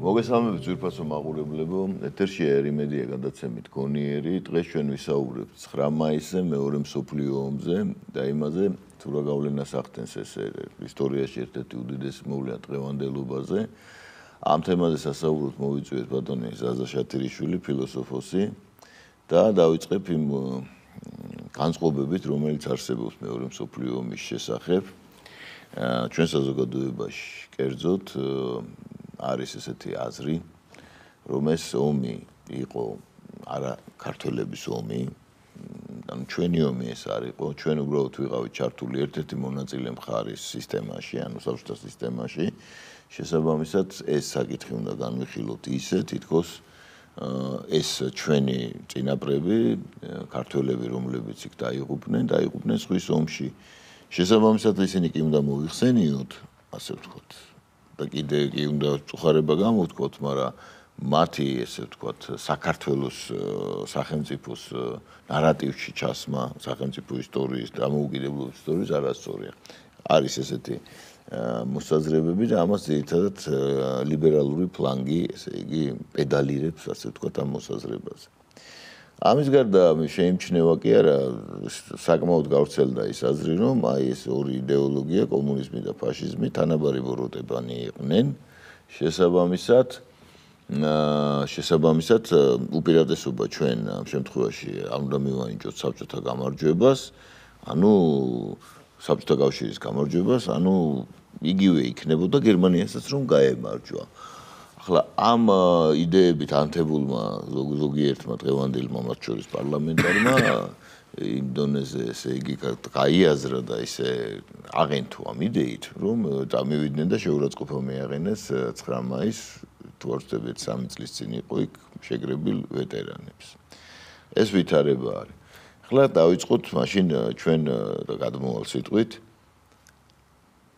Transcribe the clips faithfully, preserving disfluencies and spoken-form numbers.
მოგესალმებით ძვირფასო მაყურებლებო, ეთერშია ერიმედია გადაცემით გონიერი. დღეს ჩვენ ვისაუბრებთ ცხრა მაისზე, მეორე მსოფლიო ომზე და იმაზე, თუ რა გავლენას ახდენს ეს ისტორიაში ერთ-ერთი უდიდესი მოვლენა დღევანდელობაზე. ამ თემაზე სასაუბროთ მოვიწვიეთ ბატონი ზაზა შათირიშვილი, ფილოსოფოსი და დავიწყებ იმ განწყობებით, რომელიც არსებობს მეორე მსოფლიო ომის შესახებ. ჩვენ საზოგადოებაში კერძოდ არის ესეთი აზრი, რომ ეს ომი იყო არა ქართველების ომი, ანუ ჩვენი ომი ეს არ იყო, ჩვენ უბრალოდ ვიყავით ჩართული ერთ-ერთი მონაწილე მხარის სისტემაში, ანუ საბჭოთა სისტემაში. შესაბამისად, ეს საკითხი უნდა განვიხილოთ ისე, თითქოს ეს ჩვენი წინაპრები, ქართველები, რომლებიც იქ დაიღუპნენ, დაიღუპნენ ზღვის ომში. შესაბამისად, ისინი კი უნდა მოიხსენიოთ, ასე ვთქვათ. და კიდე კი უნდა წუხარება გამოვთქვათ, მაგრამ მათი ესე ვთქვათ საქართველოს სახელმწიფოს ნარატივში ჩასმა, სახელმწიფო ისტორიის და დამოუკიდებლობის ისტორიის არასწორია. არის ესეთი მოსაზრებები და ამას ძირითადად ლიბერალური ფლანგი, ესე იგი, პედალირებს, ასე ვთქვათ, ამ მოსაზრებაზე. ამის გარდა შეიმჩნევა კი არა, საკმაოდ გავრცელდა ის აზრი, რომ აი ეს ორი იდეოლოგია, კომუნიზმი და ფაშიზმი, თანაბარი ბოროტებანი იყვნენ. შესაბამისად, შესაბამისად, უპირატესობა ჩვენ ამ შემთხვევაში არ უნდა მივანიჭოთ საბჭოთა გამარჯვებას, ანუ საბჭოთა კავშირის გამარჯვებას, ანუ იგივე იქნებოდა გერმანიასაც რომ გაემარჯვა. ახლა ამ იდეებით ანთებულმა ზოგიერთმა დღევანდელმა მათ შორის პარლამენტარმა იმ დონეზე ესე იგი გაიაზრა და ისე აღენთო ამ იდეით, რომ წამივიდნენ და შეურაცხყოფა მიაყენეს ცხრა მაისს, თუ არ ვცდებით სამი წლის წინ იყო იქ შეკრებილ ვეტერანებს. ეს ვითარება არის. ახლა დავიწყოთ მაშინ ჩვენ გადმოვალ სიტყვით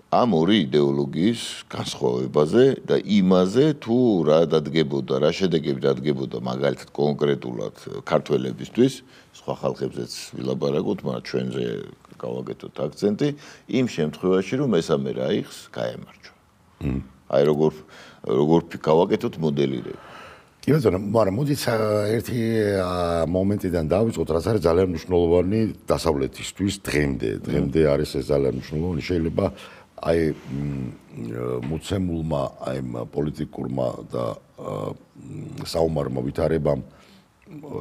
ამ ორი იდეოლოგიის განსხვავებაზე და იმაზე, თუ რა დადგებოდა, რა შედეგები დადგებოდა მაგალითად კონკრეტულად ქართველებისთვის, სხვა ხალხებზეც ვილაპარაკოთ, მაგრამ ჩვენზე გავაკეთოთ აქცენტი, იმ შემთხვევაში, რომ მესამე რაიხს გაემარჯვა. აი როგორ როგორ გავაკეთოთ მოდელირება. კი ბატონო, მაგრამ მოდით ერთი მომენტიდან დავიწყოთ, რაც არის ძალიან მნიშვნელოვანი დასავლეთისთვის დღემდე. დღემდე არის ეს ძალიან მნიშვნელოვანი, შეიძლება აი მოცემულმა აი პოლიტიკურმა და საომარმა ვითარებამ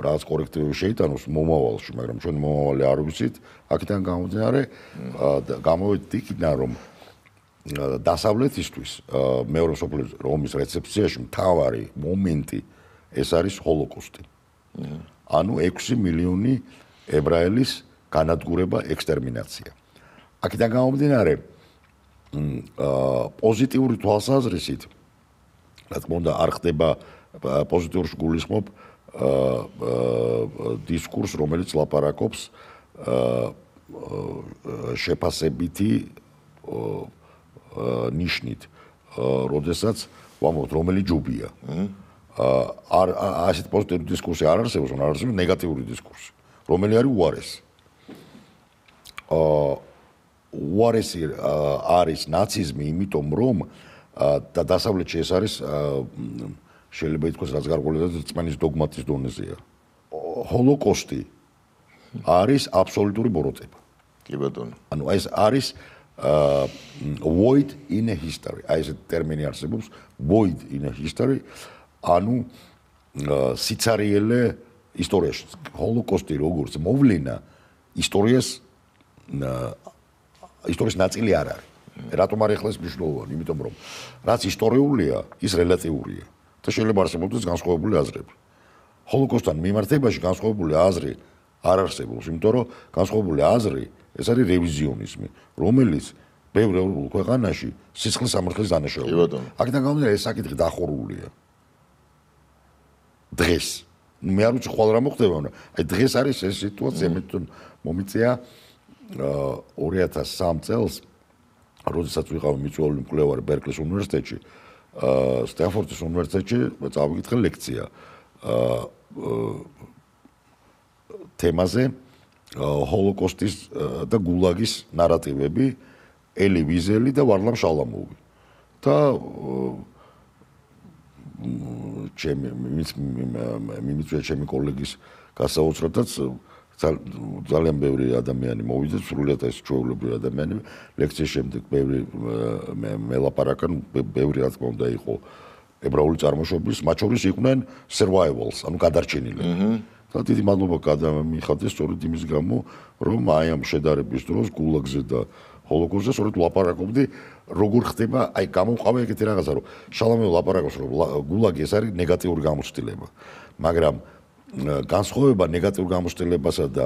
რაღაც კორექტივები შეიტანოს მომავალში, მაგრამ ჩვენ მომავალი არ ვიცით, აქედან გამომდინარე გამოვედი იქიდან, რომ დასავლეთისთვის მეორე მსოფლიო ომის რეცეფციაში მთავარი მომენტი ეს არის ჰოლოკოსტი. ანუ ექვსი მილიონი ებრაელის განადგურება, ექსტერმინაცია. აქედან გამომდინარე პოზიტიური თვალსაზრისით, რა თქმა უნდა, არ ხდება პოზიტიურს გულისხმობ დისკურს, რომელიც ლაპარაკობს შეფასებითი ნიშნით, როდესაც ვამბობთ, რომელი ჯუბია. არ ასეთ პოზიტიური დისკურსი არ არსებობს, არ არსებობს ნეგატიური დისკურსი, რომელი არის უარესი. უარესი არის ნაციზმი, იმიტომ რომ და დასავლეთში ეს არის შეიძლება ითქვას, რაც გარკვეული რწმენის დოგმატის დონეზეა. ჰოლოკოსტი არის აბსოლუტური ბოროტება. კი ბატონო. ანუ ეს არის void in a history. აი ეს ტერმინი არსებობს, void in a history, ანუ სიცარიელე ისტორიაში. ჰოლოკოსტი როგორც მოვლენა ისტორიას ისტორიის ნაწილი არ არის. რატომ არ ეხლა ეს მნიშვნელოვანი? იმიტომ რომ რაც ისტორიულია, ის რელატიურია და შეიძლება არსებობდეს განსხვავებული აზრები. ჰოლოკოსტთან მიმართებაში განსხვავებული აზრი არ არსებობს, იმიტომ რომ განსხვავებული აზრი ეს არის რევიზიონიზმი, რომელიც ბევრ ევროპულ ქვეყანაში სისხლის სამართლის დანაშაულია. აქედან გამომდინარე, ეს საკითხი დახურულია. დღეს მე არ ვიცი ხვალ რა მოხდება, მაგრამ აი დღეს არის ეს სიტუაცია, მე თვითონ მომიწია ორი ათას სამი წელს, როდესაც ვიყავი მიწვეული მკვლევარი ბერკლის უნივერსიტეტში, სტენფორდის უნივერსიტეტში წავიკითხე ლექცია თემაზე ჰოლოკოსტის და გულაგის ნარატივები, ელი ვიზელი და ვარლამ შალამოვი. და ჩემი მიმიწვია ჩემი კოლეგის გასაოცრადაც ძალიან ბევრი ადამიანი მოვიდა, სრულიად ეს ჩვეულებრივი ადამიანები. ლექციის შემდეგ ბევრი მელაპარაკან, ბევრი რა თქმა უნდა იყო ებრაული წარმოშობის, მათ შორის იყვნენ survivals, ანუ გადარჩენილები. და დიდი მადლობა გადამიხადეს სწორედ იმის გამო, რომ აი ამ შედარების დროს გულაგზე და ჰოლოკოსტზე სწორედ ვლაპარაკობდი, როგორ ხდება, აი გამოვყავე ეგეთი რაღაცა, რომ შალომე ვლაპარაკობს, რომ გულაგი ეს არის ნეგატიური გამოცდილება. მაგრამ განსხვავება ნეგატიურ გამოცდილებასა და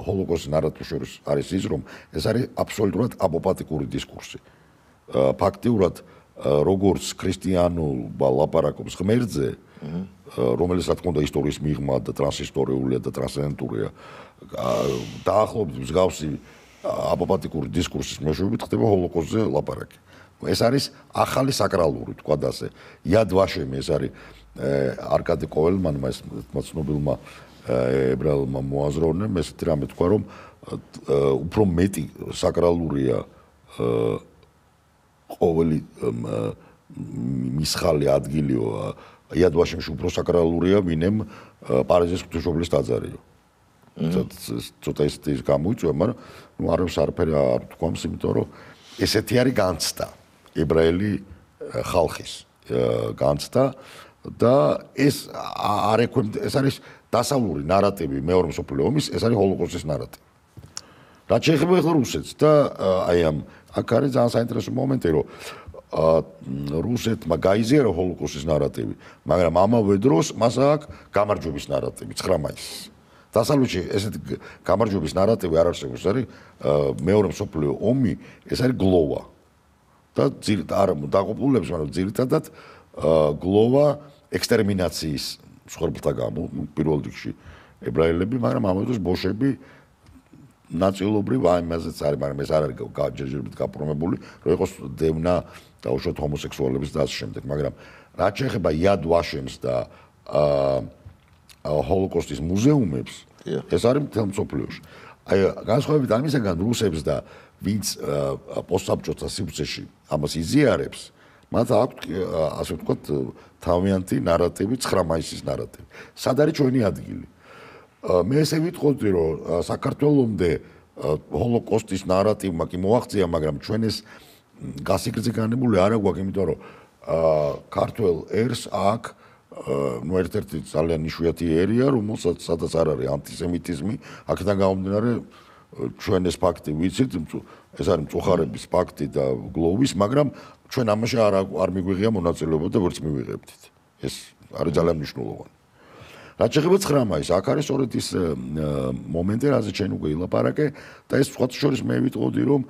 ჰოლოკოსტის ნარატივის შორის არის ის, რომ ეს არის აბსოლუტურად აპოპატიკური დისკურსი. ფაქტიურად როგორც ქრისტიანობა ლაპარაკობს ღმერთზე, რომელიც რა თქმა უნდა ისტორიის მიღმა და ტრანსისტორიულია და ტრანსცენდენტურია, დაახლოებით მსგავსი აპოპატიკური დისკურსის მეშვეობით ხდება ჰოლოკოსტზე ლაპარაკი. ეს არის ახალი საკრალური, თქვა და ასე. იად ვაშემი ეს არის არკადი კოველმანმა, ეს ცნობილმა ებრაელმა მოაზროვნემ ესეთი რამე თქვა, რომ უფრო მეტი საკრალურია ყოველი მისხალი ადგილიო იად ვაშემში უფრო საკრალურია, ვინემ პარიზის ღვთისმშობლის ტაძარიო. ცოტა ისეთი გამოიწვია, მაგრამ ნუ არავს არაფერი არ თქვამს, იმიტომ რომ ესეთი არის განცდა ებრაელი ხალხის განცდა და ეს არ ექვემ ეს არის დასავლური ნარატივი მეორე მსოფლიო ომის, ეს არის ჰოლოკოსტის ნარატივი. რაც შეეხება ახლა რუსეთს და აი ამ აქ არის ძალიან საინტერესო მომენტი, რომ რუსეთმა გაიზიარა ჰოლოკოსტის ნარატივი, მაგრამ ამავე დროს მას აქვს გამარჯვების ნარატივი ცხრა მაისის. დასავლეთში ესეთი გამარჯვების ნარატივი არ არსებობს, არის მეორე მსოფლიო ომი, ეს არის გლოვა. და არ დაყოფილებს, მაგრამ ძირითადად გლოვა ექსტერმინაციის მსხვერპლთა გამო, პირველ რიგში ებრაელები, მაგრამ ამავე დროს ბოშები ნაწილობრივ აი მასეც არის, მაგრამ ეს არ არის ჯერჯერობით გაპრომებული, რომ იყოს დევნა და უშუალოდ ჰომოსექსუალების და ასე შემდეგ, მაგრამ რაც შეეხება იად ვაშემს და ჰოლოკოსტის მუზეუმებს, ეს არის მთელ მსოფლიოში. აი განსხვავებით ამისაგან რუსებს და ვინც პოსტსაბჭოთა სივრცეში ამას იზიარებს, მათ აქვთ ასე ვთქვათ თავიანთი ნარატივი, ცხრა მაისის ნარატივი. სად არის ჩვენი ადგილი? მე ესე ვიტყოდი, რომ საქართველომდე ჰოლოკოსტის ნარატივმა კი მოაღწია, მაგრამ ჩვენ ეს გასიკრძე განებული არ აგვაქვს, იმიტომ რომ ქართველ ერს აქ ნუ ერთ-ერთი ძალიან იშვიათი ერია, რომელსაც სადაც არ არის ანტისემიტიზმი, აქედან გამომდინარე ჩვენ ეს ფაქტი ვიცით, ეს არის მწუხარების ფაქტი და გლოვის, მაგრამ ჩვენ ამაში არ არ მიგვიღია მონაწილეობა და ვერც მივიღებდით. ეს არის ძალიან მნიშვნელოვანი. რაც შეეხება ცხრა მაისს, აქ არის სწორედ ის მომენტი, რაზეც შენ უკვე ილაპარაკე და ეს სხვათა შორის მე ვიტყოდი, რომ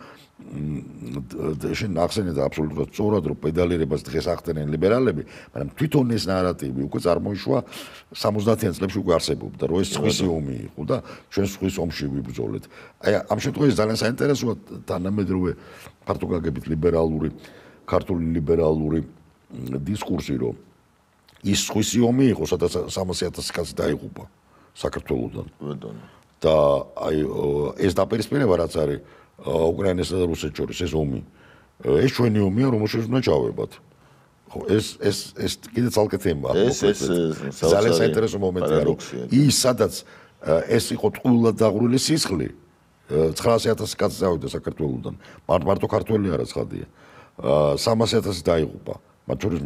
შენ ახსენე და აბსოლუტურად სწორად, რომ პედალირებას დღეს ახდენენ ლიბერალები, მაგრამ თვითონ ეს ნარატივი უკვე წარმოიშვა სამოცდაათიან წლებში უკვე არსებობდა, რომ ეს სხვისი ომი იყო და ჩვენ სხვის ომში ვიბრძოლეთ. აი ამ შემთხვევაში ძალიან საინტერესოა თანამედროვე ფართოგაგებით ლიბერალური, ქართული ლიბერალური დისკურსი, რომ ის სხვისი ომი იყო, სადაც სამასი ათასი კაცი დაიღუპა საქართველოსთან. და აი ეს დაპირისპირება რაც არის უკრაინასა და რუსეთს შორის ეს ომი. ეს ჩვენი ომია, რომელშიც უნდა ჩავებათ. ხო, ეს ეს ეს კიდე ცალკე თემაა. ეს ეს ძალიან საინტერესო მომენტია, რომ ის სადაც ეს იყო ტყუილად დაღვრილი სისხლი, ცხრაასი ათასი კაცი წავიდა საქართველოსთან. მარტო ქართველი არა ცხადია. სამასი ათასი დაიღუპა. მათ შორის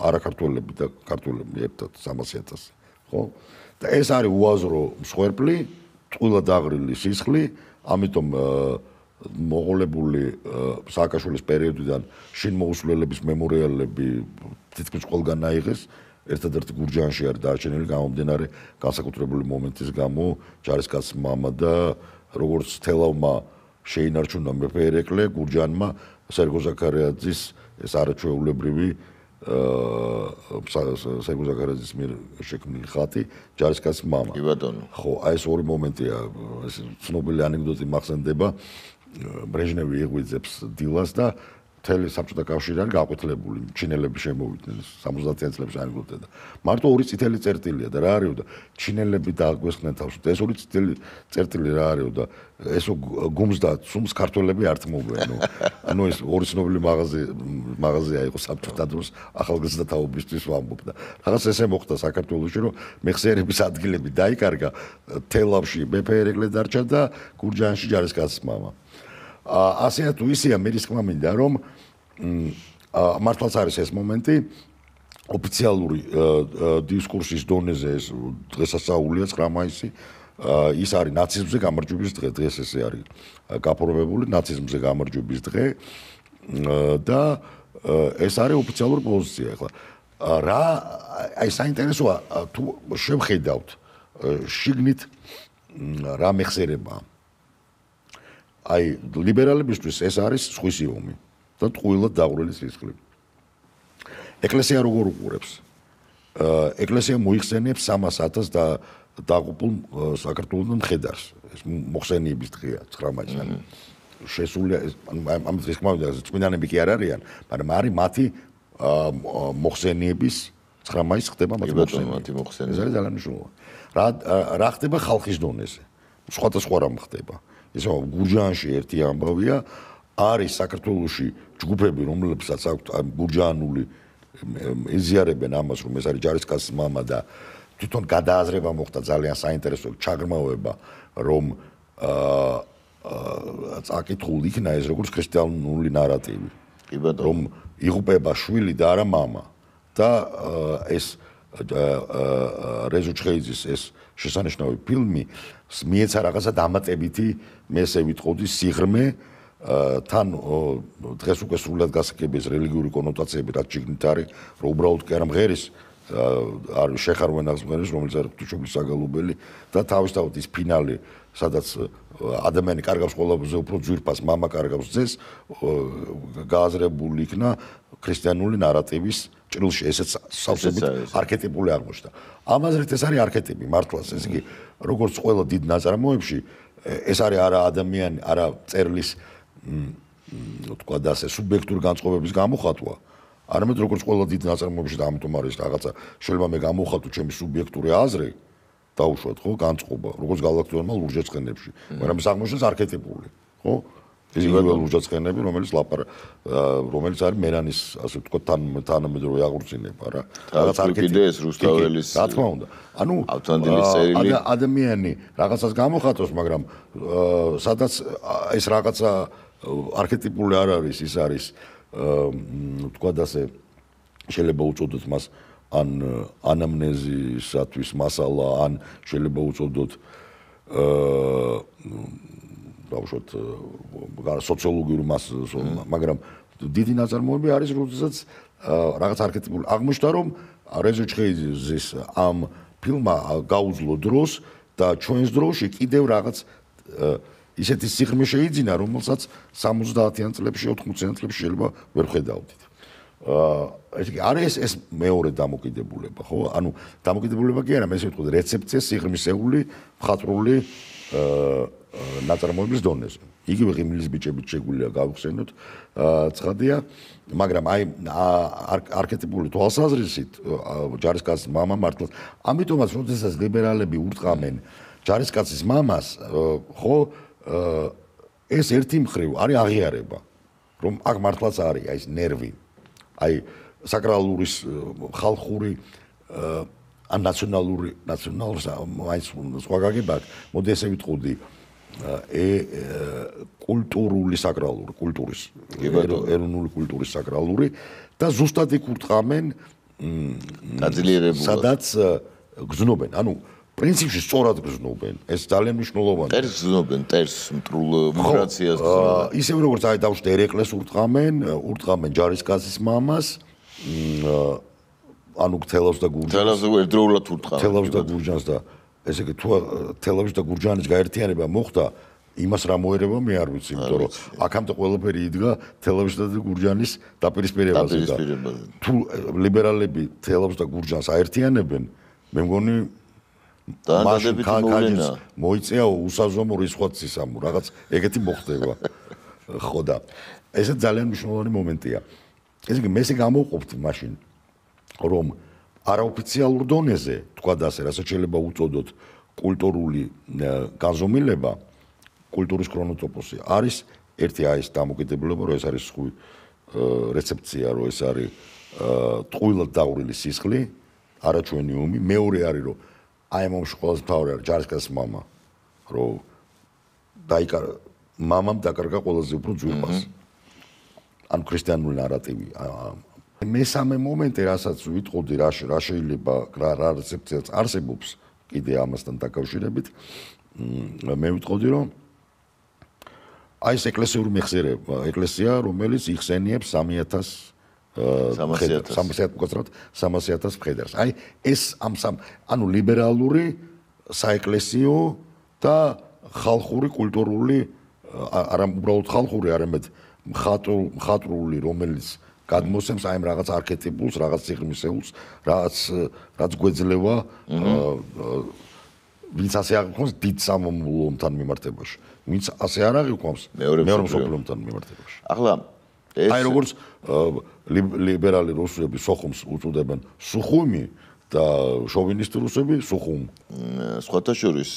არაქართველები და ქართველები ერთად სამასი ათასი. ხო? და ეს არის უაზრო მსხვერპლი, ტყუილად დაღვრილი სისხლი, ამიტომ მოღოლებული სააკაშვილის პერიოდიდან შინმოუსვლელების მემორიალები თითქმის ყველგან აიღეს, ერთადერთი გურჯაანში არის დარჩენილი გამომდინარე განსაკუთრებული მომენტის გამო, ჯარისკაცის მამა და როგორც თელავმა შეინარჩუნა მეფე ერეკლე გურჯაანმა სერგო ზაქარიაძის ეს არაჩვეულებრივი სერგო ზაქარიაძის მიერ შექმნილი ხატი ჯარისკაცის მამა. კი ბატონო. ხო, აი ეს ორი მომენტია, ეს ცნობილი ანეკდოტი მახსენდება. ბრეჟნევი იღვიძებს დილას და მთელი საბჭოთა კავშირი არის გაყვითლებული, ჩინელები შემოვიდნენ სამოცდაათიან წლებში აიგულდნენ და მარტო ორი წითელი წერტილია და რა არისო და ჩინელები დააგვესხნენ თავს და ეს ორი წითელი წერტილი რა არისო და ესო გუმს და სუმს ქართველები არ თმობენო. ანუ ეს ორი ცნობილი მაღაზი მაღაზია იყო საბჭოთა დროს ახალგაზრდა თაობისთვის ვამბობ და რაღაც ესე მოხდა საქართველოში რომ მეხსიერების ადგილები დაიკარგა თელავში მეფე ერეკლე დარჩა და გურჯაანში ჯარისკაცის მამა. ასე თუ ისეა მე რისკმა მინდა რომ მართლაც არის ეს მომენტი ოფიციალური დისკურსის დონეზე ეს დღესასწაულია ცხრა მაისი ის არის ნაციზმზე გამარჯვების დღე დღეს ესე არის გაფორმებული ნაციზმზე გამარჯვების დღე და ეს არის ოფიციალური პოზიცია ახლა რა აი საინტერესოა თუ შევხედავთ შიგნით რა მეხსიერებაა აი ლიბერალებისთვის ეს არის სხვისი ომი და ტყუილად დაყრილი სისხლი. ეკლესია როგორ უყურებს? ეკლესია მოიხსენიებს სამას ათას და დაღუპულ საქართველოს მხედარს. ეს მოხსენიების დღეა ცხრა მაისს. შესულია ამ დღეს ხმავდა წმინდანები კი არ არიან, მაგრამ არის მათი მოხსენიების ცხრა მაისს ხდება მათი მოხსენიება. ეს არის ძალიან მნიშვნელოვანი. რა რა ხდება ხალხის დონეზე? სხვადასხვა რამ ხდება. ისე გურჯაანში ერთი ამბავია არის საქართველოში ჯგუფები რომლებსაც აქვთ გურჯაანული ეზიარებენ ამას რომ ეს არის ჯარისკაცის მამა და თვითონ გადააზრება მოხდა ძალიან საინტერესო ჩაგრმავება რომ აა წაკითხულ იქნა ეს როგორც ქრისტიანული ნარატივი რომ იღუპება შვილი და არა მამა და ეს რეზო ჩხეიძის ეს შესანიშნავი ფილმი მიეცა რაღაცა დამატებითი მე ესე ვიტყოდი სიღრმე თან დღეს უკვე სრულად გასაგებია რელიგიური კონოტაციები რაც შიგნით არის რომ უბრალოდ კი არა მღერის არის შეხარვენას მღერის რომელიც არის ღვთისმშობლის საგალობელი და თავისთავად ის ფინალი სადაც ადამიანი კარგავს ყველაზე უფრო ძვირფას მამა კარგავს ძეს გააზრებული იქნა ქრისტიანული ნარატივის ჭრილში ესეც სავსებით არქეტიპული აღმოჩნდა ამაზრით ეს არის არქეტიპი მართლაც ეს იგი როგორც ყველა დიდ ნაწარმოებში ეს არის არა ადამიანი არა წერლის თქვა და ასე სუბიექტური განწყობების გამოხატვა არამედ როგორც ყველა დიდ ნაწარმოებში და ამიტომ არის რაღაცა შეიძლება მე გამოვხატო ჩემი სუბიექტური აზრი დაუშვათ ხო განწყობა როგორც გალაქტიონმა ლურჯაცხენებში მაგრამ ეს აღმოჩნდა არქეტიპული ხო ეს იუველური ლურჯაცხენები რომელიც ლაპარ რომელიც არის მერანის ასე ვთქვათ თან თანამედროვე აღორძინება რა რაღაც არქეტიპი ეს რუსთაველის რა თქმა უნდა ანუ ავთანდილის წერილი ადამიანი რაღაცას გამოხატოს მაგრამ სადაც ეს რაღაცა არქეტიპული არ არის ის არის ვთქვათ ასე შეიძლება უწოდოთ მას ან ანამნეზისათვის მასალა ან შეიძლება უწოდოთ აა დავუშვათ სოციოლოგიური მასალა მაგრამ დიდი ნაწარმოები არის როდესაც რაღაც არქეტიპული აღმოჩნდა რომ რეზო ჩხეიძის ამ ფილმმა გაუძლო დროს და ჩვენს დროში კიდევ რაღაც ისეთი სიღრმე შეიძინა რომელსაც სამოცდაათიან წლებში ოთხმოციან წლებში შეიძლება ვერ ხედავდით აა ეს არის ეს მეორე დამოკიდებულება ხო ანუ დამოკიდებულება კი არა მე ესე ვიტყოდი რეცეპცია სიღრმისეული მხატვრული ნაწარმოების დონეზე იგივე ღიმილის ბიჭებით შეგვიძლია გავხსენოთ ცხადია მაგრამ აი არქეტიპული თვალსაზრისით ჯარისკაცის მამა მართლაც ამიტომაც როდესაც ლიბერალები ურტყამენ ჯარისკაცის მამას ხო ეს ერთი მხრივ არის აღიარება რომ აქ მართლაც არის აი ეს ნერვი აი საკრალურის ხალხური ან ნაციონალური ნაციონალურ აი სხვა გაგება მოდი ესე ვიტყოდი ე კულტურული საკრალური კულტურის ეროვნული კულტურის საკრალური და ზუსტად იქ ურტყამენ გაძლიერებულად სადაც გზნობენ ანუ პრინციპში სწორად გზნობენ ეს ძალიან მნიშვნელოვანია ტერს გზნობენ ტერს მტრულ მიგრაციას გზნობენ ისევ როგორც აი დავუშვათ ერეკლეს ურტყამენ ურტყამენ ჯარისკაცის მამას ანუ თელავს და გურჯანს თელავს და ერთდროულად ურტყამენ თელავს და გურჯანს და ესე იგი თუ თელავის და გურჯანის გაერთიანება მოხდა იმას რა მოერება მე არ ვიცი იმიტომ რომ აქამდე ყველაფერი იდგა თელავის და გურჯანის დაპირისპირებაზე და თუ ლიბერალები თელავს და გურჯანს აერთიანებენ მე მგონი დაანადებით მოვლენა მოიწეა უსაზომო რისხვაცის ამ რაღაც ეგეთი მოხდება ხო და ეს ძალიან მნიშვნელოვანი მომენტია. ესე იგი, მე ესე გამოვყოფთ მაშინ, რომ არაოფიციალურ დონეზე, თქვა და ასე, რასაც შეიძლება უწოდოთ კულტურული განზომილება, კულტურის ქრონოტოპოსი არის ერთი აი ეს დამოკიდებულება, რომ ეს არის სხვი რეცეფცია, რომ ეს არის ტყუილად დაურილი სისხლი, არაჩვენიუმი, მეორე არის, რომ აი ამ მომში ყველაზე მთავარი არის ჯარისკაცის მამა, რომ დაიკარგა მამამ დაკარგა ყველაზე უფრო ძვირფას. ან ქრისტიანული ნარატივი. მესამე მომენტი, რასაც ვიტყოდი, რა რა შეიძლება რა რა რეცეფციაც არსებობს კიდე ამასთან დაკავშირებით, მე ვიტყოდი, რომ აი ეს ეკლესიური მეხსიერება, ეკლესია, რომელიც იხსენიებს სამი ათას სამასი ათას მხედარს. აი ეს ამ სამ ანუ ლიბერალური საეკლესიო და ხალხური კულტურული არა უბრალოდ ხალხური, არამედ მხატვრული, რომელიც გადმოსცემს აი ამ რაღაც არქეტიპულს, რაღაც სიღრმისეულს, რაც რაც გვეძლევა ვინც ასე აღიქვამს დიდ სამამულოებთან მიმართებაში. ვინც ასე არ აღიქვამს მეორე მსოფლიომთან მიმართებაში. ახლა ეს აი როგორც ლიბერალი რუსები სოხუმს უწოდებენ სუხუმი და შოვინისტი რუსები სუხუმ. სხვათა შორის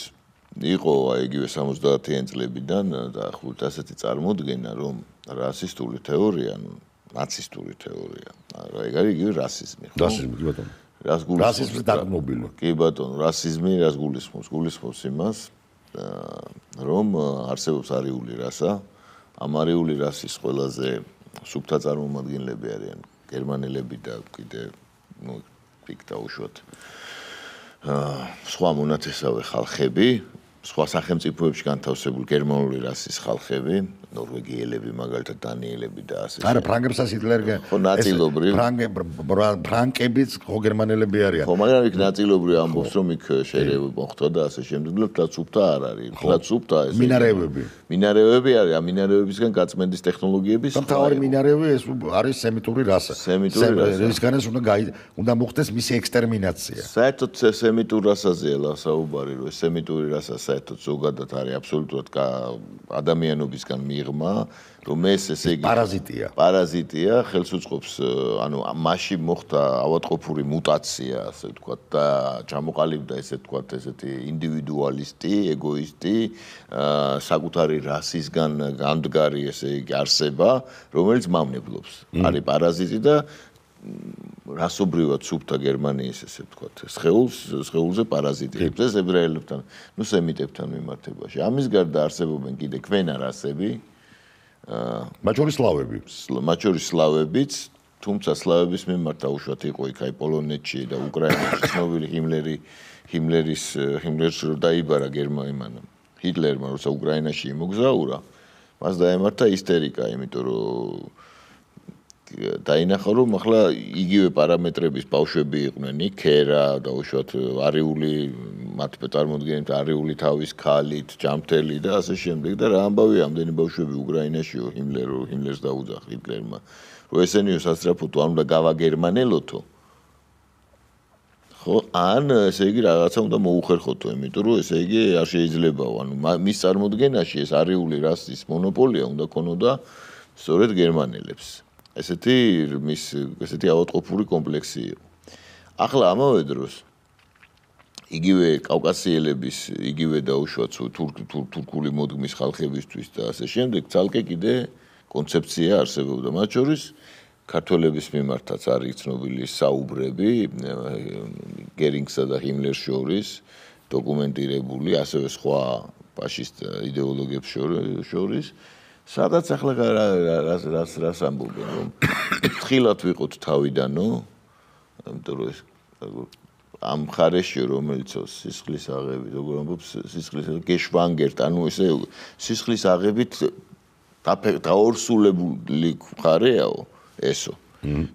იყო აი იგივე სამოცდაათიან წლებიდან დაახლოებით ასეთი წარმოდგენა, რომ რასისტული თეორია, ანუ ნაცისტური თეორია, რა ეგ არის იგივე რასიზმი, ხო? რასიზმი, კი ბატონო. რას გულისხმობს? რასიზმის დაგმობილი. კი ბატონო, რასიზმი რას გულისხმობს? გულისხმობს იმას, რომ არსებობს არიული რასა, ამ არიული რასის ყველაზე სუფთა წარმომადგენლები არიან გერმანელები და კიდე ნუ იქ დაუშვათ სხვა მონათესავე ხალხები, სხვა სახელმწიფოებში განთავსებული გერმანული რასის ხალხები, ნორვეგიელები, მაგალითად დანიელები და ასე. არა, ფრანგებსაც ჰიტლერი ხო, ნაწილობრივ. ფრანკებიც ხო გერმანელები არიან. ხო, მაგრამ იქ ნაწილობრივ ამბობს, რომ იქ შერევა მოხდა და ასე შემდეგ, და სუფთა არ არის. და სუფთა ეს მინარევები. მინარევები არის, ამ მინარევებისგან გაწმენდის ტექნოლოგიების სხვა. თავი მინარევი ეს არის სემიტური რასა. სემიტური რასა. ისგანაც უნდა უნდა მოხდეს მისი ექსტერმინაცია. საერთოდ სემიტურ რასაზეა საუბარი, რომ სემიტური რასა საერთოდ ზოგადად არის აბსოლუტურად ადამიანობისგან მიღმა, რომ ეს ესე იგი პარაზიტია. პარაზიტია, ხელს უწყობს, ანუ მასში მოხდა ავადმყოფური მუტაცია, ასე ვთქვათ, და ჩამოყალიბდა ესე ვთქვათ, ესეთი ინდივიდუალისტი, ეგოისტი, საკუთარი რასისგან გამდგარი ესე იგი არსება, რომელიც მავნებლობს. არის პარაზიტი და რასობრივად სუფთა გერმანიის ესე ვთქვათ, სხეულს, სხეულზე პარაზიტებს ეს ებრაელებთან, ნუ სემიტებთან მიმართებაში. ამის გარდა არსებობენ კიდე ქვენა რასები, მათ შორის სლავები. მათ შორის სლავებიც, თუმცა სლავების მიმართ დაუშვათ იყო იქ აი პოლონეთში და უკრაინაში ცნობილი ჰიმლერი, ჰიმლერის ჰიმლერს რო დაიბარა გერმანიამ, ჰიტლერმა როცა უკრაინაში იმოგზაურა, მას დაემართა ისტერიკა, იმიტომ რომ დაინახა, რომ ახლა იგივე პარამეტრების ბავშვები იყვნენ, იქერა, დაუშვათ არიული, მათ წარმოდგენით არიული თავის ქალით, ჯამთელი და ასე შემდეგ და რა ამბავია ამდენი ბავშვები უკრაინაშიო ჰიმლერო, ჰიმლერს დაუძახ ჰიტლერმა, რომ ესენიო სასწრაფოთო არ უნდა გავაგერმანელოთო. ხო, ან ესე იგი რაღაცა უნდა მოუხერხოთო, იმიტომ რომ ესე იგი არ შეიძლებაო, ანუ მის წარმოდგენაში ეს არიული რასის მონოპოლია უნდა ქონოდა სწორედ გერმანელებს. ესეთი მის ესეთი ავადმყოფური კომპლექსი იყო. ახლა ამავე დროს იგივე კავკასიელების, იგივე დაუშვათ თურქული მოდგმის ხალხებისთვის და ასე შემდეგ, ძალკე კიდე კონცეფცია არსებობდა. მათ შორის ქართველების მიმართაც არის ცნობილი საუბრები გერინგსა და ჰიმლერს შორის დოკუმენტირებული, ასევე სხვა ფაშისტ იდეოლოგიებს შორის. სადაც ახლა რას რას რას ამბობენ, რომ თხილად ვიყოთ თავიდანო, იმიტომ რომ ეს ამ ხარეში რომელიც სისხლის აღებით, როგორ ამბობს, სისხლის გეშვანგერტ, ანუ ესე სისხლის აღებით დაორსულებული ხარეაო ესო.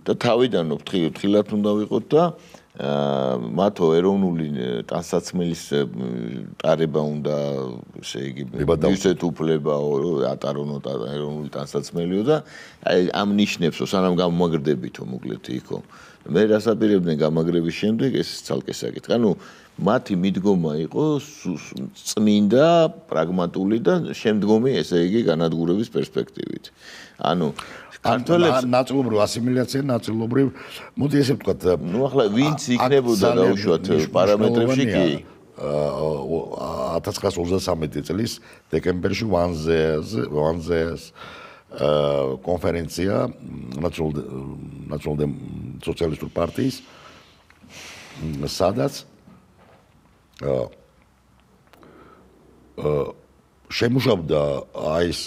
და თავიდანო თხილად უნდა ვიყოთ და მათო ეროვნული ტანსაცმელის ტარება უნდა, ესე იგი, ისეთ უფლება ატარონო ეროვნული ტანსაცმელიო და აი ამ ნიშნებსო სანამ გამომაგრდებითო მოკლედ იქო. მე რასაპირებდნენ გამაგრების შემდეგ ეს ცალკე საკითხი. ანუ მათი მიდგომა იყო წმინდა, პრაგმატული და შემდგომი, ესე იგი, განადგურების პერსპექტივით. ანუ ქართველებს ნაწილობრივ ასიმილაცია, ნაწილობრივ, მოდი ესე ვთქვათ, ნუ ახლა ვინც იქნებოდა დაუშვათ პარამეტრებში კი ათას ცხრაას ოცდასამეტი წლის დეკემბერში ვანზეს კონფერენცია ნაციონალ სოციალისტურ პარტიის სადაც შემუშავდა აი ეს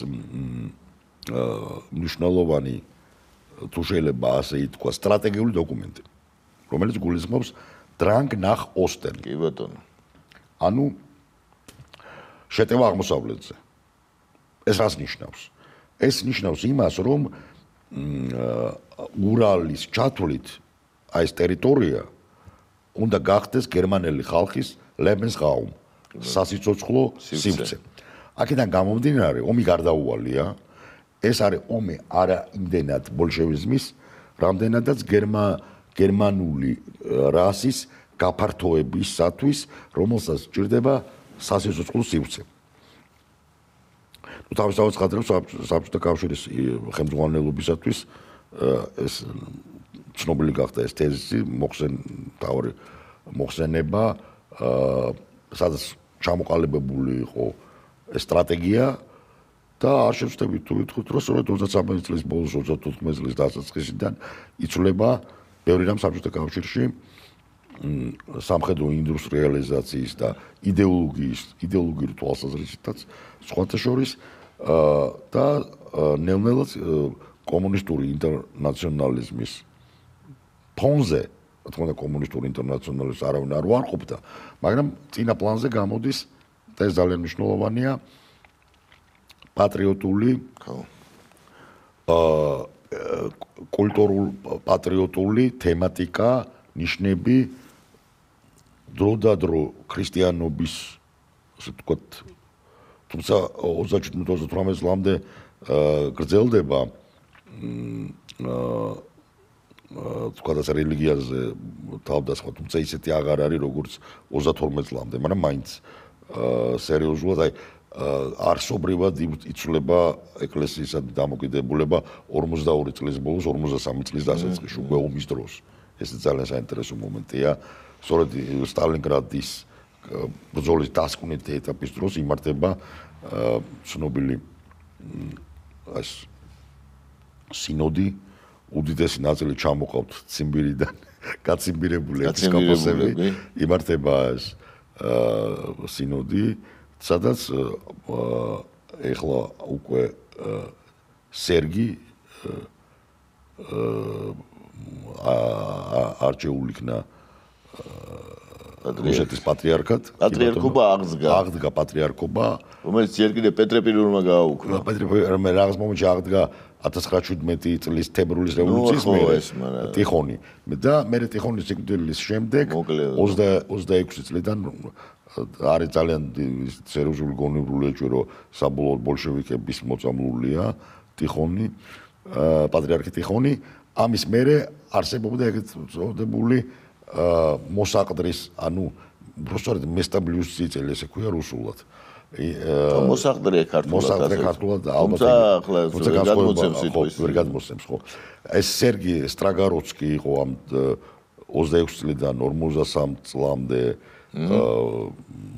მნიშვნელოვანი თუ შეიძლება ასე ითქვა სტრატეგიული დოკუმენტი, რომელიც გულისხმობს დრანგ ნახ ოსტენ. კი ბატონო. ანუ შეტევა აღმოსავლეთზე. ეს რას ნიშნავს? ეს ნიშნავს იმას, რომ ურალის ჩათვლით აი ეს ტერიტორია უნდა გახდეს გერმანელი ხალხის Lebensraum, სასიცოცხლო სივრცე. აქედან გამომდინარე, ომი გარდაუვალია. ეს არის ომი არა იმდენად ბოლშევიზმის, რამდენადაც გერმანული რასის გაფართოებისათვის, რომელსაც სჭირდება სასიცოცხლო სივრცე. ნუ თავისთავად ხადრებს საბჭოთა კავშირის ხელმძღვანელობისათვის ეს ცნობილი გახდა ეს თეზისი, მოხსენთავი მოხსენება, სადაც ჩამოყალიბებული იყო ეს სტრატეგია და არ შევწდებით თუ ვიტყვით, რომ სწორედ ოცდასამეტი წლის ბოლოს, ოცდათოთხმეტი წლის დასაწყისიდან იცვლება ბევრი რამ საბჭოთა კავშირში სამხედრო ინდუსტრიალიზაციის და იდეოლოგიის, იდეოლოგიური თვალსაზრისითაც სხვათა შორის და ნელ-ნელად კომუნისტური ინტერნაციონალიზმის ფონზე, რა თქმა უნდა, კომუნისტური ინტერნაციონალიზმს არავინ არ უარყოფდა, მაგრამ წინა პლანზე გამოდის და ეს ძალიან მნიშვნელოვანია პატრიოტული კულტურულ პატრიოტული თემატიკა, ნიშნები დრო და დრო ქრისტიანობის, ასე ვთქვათ, თუმცა ოცდაჩვიდმეტ ოცდათვრამეტ წლამდე გრძელდება ვთქვათ ასე რელიგიაზე თავდასხმა, თუმცა ისეთი აღარ არის როგორც ოცდათორმეტ წლამდე, მაგრამ მაინც სერიოზულად აი არსობრივად იცვლება ეკლესიისა დამოკიდებულება ორმოცდაორი წლის ბოლოს, ორმოცდასამი წლის დასაწყისში, უკვე ომის დროს. ეს ძალიან საინტერესო მომენტია. სწორედ სტალინგრადის ბრძოლის დასკვნით ეტაპის დროს იმართება ცნობილი ეს სინოდი, უდიდესი ნაწილი ჩამოყავთ ციმბირიდან, გაციმბირებული ეპისკოპოსები, იმართება ეს სინოდი, სადაც ეხლა უკვე სერგი არჩეულ იქნა რუსეთის პატრიარქად. პატრიარქობა აღდგა. აღდგა პატრიარქობა, რომელიც ჯერ კიდევ პეტრე პირველმა გააუქმა. პეტრე პირველმა რაღაც მომენტში აღდგა ათას ცხრაასცხრაჩვიდმეტი წლის თებერვლის რევოლუციის მერე ტიხონი. და მერე ტიხონის სიკვდილის შემდეგ ოცდაექვსი წლიდან არის ძალიან სერიოზული გონივრული ეჭვი, რომ საბოლოოდ ბოლშევიკების მოწამლულია ტიხონი, პატრიარქი ტიხონი. ამის მერე არსებობდა ეგეთ წოდებული მოსაყდრის, ანუ უბრალოდ მესტაბლიუს წელი, ესე ქვია რუსულად. მოსაყდრე ქართულად. მოსაყდრე ქართულად ალბათ. თუმცა გადმოცემს სიტყვის. ვერ გადმოცემს, ხო. ეს სერგი სტრაგაროცკი იყო ამ ოცდაექვსი წლიდან ორმოცდასამ წლამდე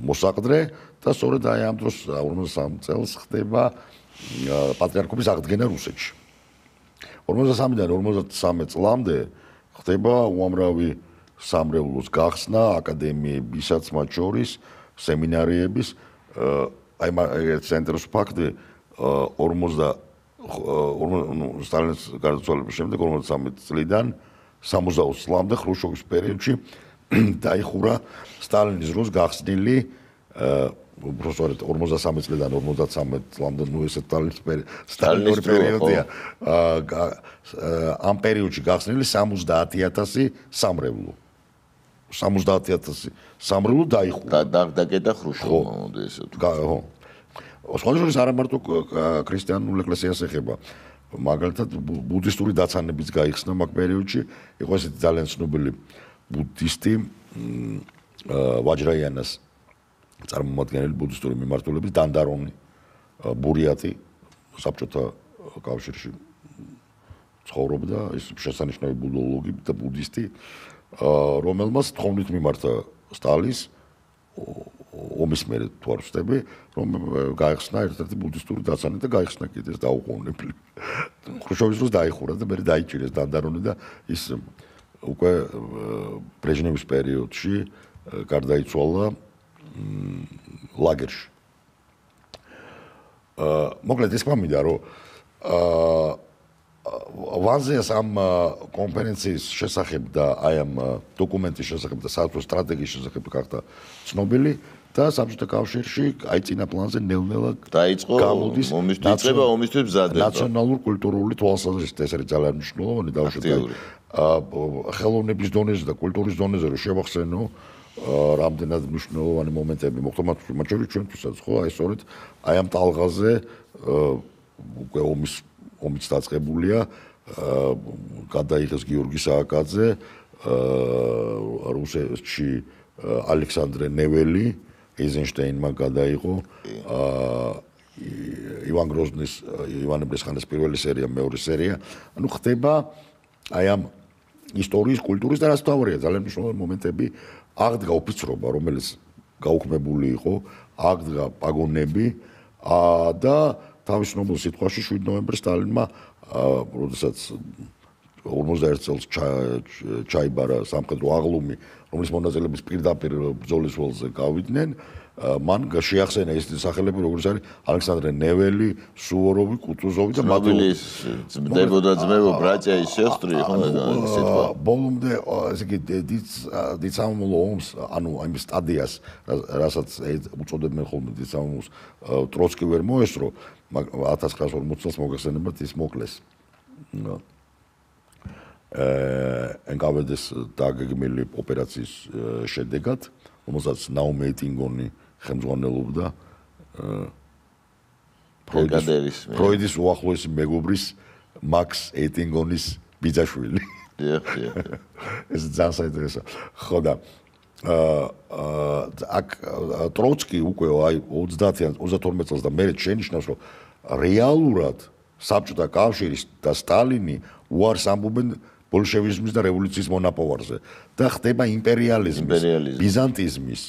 მოსაყდრე და სწორედ აი ამ დროს ორმოცდასამ წელს ხდება პატრიარქობის აღდგენა რუსეთში. ორმოცდასამიდან ორმოცდასამი წლამდე ხდება უამრავი სამრევლოს გახსნა, აკადემიებისაც მათ შორის, სემინარიების, აი ეს საინტერესო ფაქტი, ორმოცდა სტალინის გარდაცვალების შემდეგ ორმოცდასამი წლიდან სამოცდაოც წლამდე ხრუშჩოვის პერიოდში დაიხურა სტალინის დროს გახსნილი უბრალოდ ორმოცდასამი წლიდან ორმოცდათვრამეტ წლამდე ნუ ეს სტალინის პერიოდია. ამ პერიოდში გახსნილი სამოცდაათი ათასი სამრევლო. სამოცდაათი ათასი სამრევლო დაიხურა. დაკეტა ხრუშჩოვმა, მოდი ესე ვთქვა. ხო. სხვადასხვა არა მარტო ქრისტიანულ ეკლესიას ეხება. მაგალითად ბუდისტური დაცანებიც გაიხსნა მაგ პერიოდში, იყო ესეთი ძალიან ცნობილი ბუდისტი ვაჯრაიანას წარმომადგენელი ბუდისტური მიმართულების დანდარონი ბურიატი საბჭოთა კავშირში ცხოვრობდა, ის შესანიშნავი ბუდოლოგი და ბუდისტი, რომელმაც თხოვნით მიმართა სტალის ომის მერე თუ არ ვწდები, რომ გაიხსნა ერთ-ერთი ბუდისტური დაცანა და გაიხსნა კიდე ეს დაუყოვნებლი. ხრუშჩოვის დროს დაიხურა და მერე დაიჭირეს დანდარონი და ის უკვე ბრეჟნევის პერიოდში გარდაიცვალა ლაგერში. მოკლედ ეს მომიდა რომ ვანზეას ამ კონფერენციის შესახებ და აი ამ დოკუმენტის შესახებ და საერთო სტრატეგიის შესახებ გახდა ცნობილი და საბჭოთა კავშირში აი წინა პლანზე ნელ-ნელა დაიწყო ომის დაწყება, ომისთვის მზადება. ნაციონალურ კულტურული თვალსაზრისით ეს არის ძალიან მნიშვნელოვანი დავუშვათ ხელოვნების დონეზე და კულტურის დონეზე რომ შევახსენო რამდენად მნიშვნელოვანი მომენტები მოხდა მათ შორის ჩვენთვისაც ხო აი სწორედ აი ამ ტალღაზე უკვე ომის ომიც დაწყებულია გადაიღეს გიორგი სააკაძე რუსეთში ალექსანდრე ნეველი ეიზენშტეინმა გადაიღო ივან გროზნის ივანე ბრესხანის პირველი სერია მეორე სერია ანუ ხდება აი ამ ისტორიის კულტურის და რაც თავარია ძალიან მნიშვნელოვანი მომენტები აღდგა ოფიცრობა რომელიც გაუქმებული იყო აღდგა პაგონები და თავისნობილ სიტყვაში შვიდ ნოემბერს სტალინმა როდესაც ორმოცდაერთ წელს ჩაიბარა სამხედრო აღლუმი რომლის მონაწილეების პირდაპირ ბრძოლის ველზე გავიდნენ მან შეახსენა ეს სახელები როგორც არის ალექსანდრე ნეველი, სუვოროვი, კუტუზოვი და მათი ძმებოდა ძმებო ბრაჭაის სესტრი ხო სიტყვა ბოლომდე ესე იგი დიდ სამამულო ომს ანუ იმ სტადიას რასაც უწოდებენ ხოლმე დიდ სამამულოს ტროცკი ვერ მოესწრო ათას ცხრაასი ორმოცი წელს მოგეხსენებათ ის მოკლეს ენ კა ვე დეს დაგეგმილი ოპერაციის შედეგად რომელსაც ნაუმ ეიტინგონი ხელმძღვანელობდა ფროიდის უახლოესი მეგობრის მაქს ეიტინგონის ბიძაშვილი. ეს ძალიან საინტერესო. ხო და აქ ტროცკი უკვე აი ოცდაათიან ოცდათორმეტ წელს და მერე შენიშნავს რომ რეალურად საბჭოთა კავშირის და სტალინი უარს ამბობენ ბოლშევიზმის და რევოლუციის მონაპოვარზე და ხდება იმპერიალიზმის, ბიზანტიზმის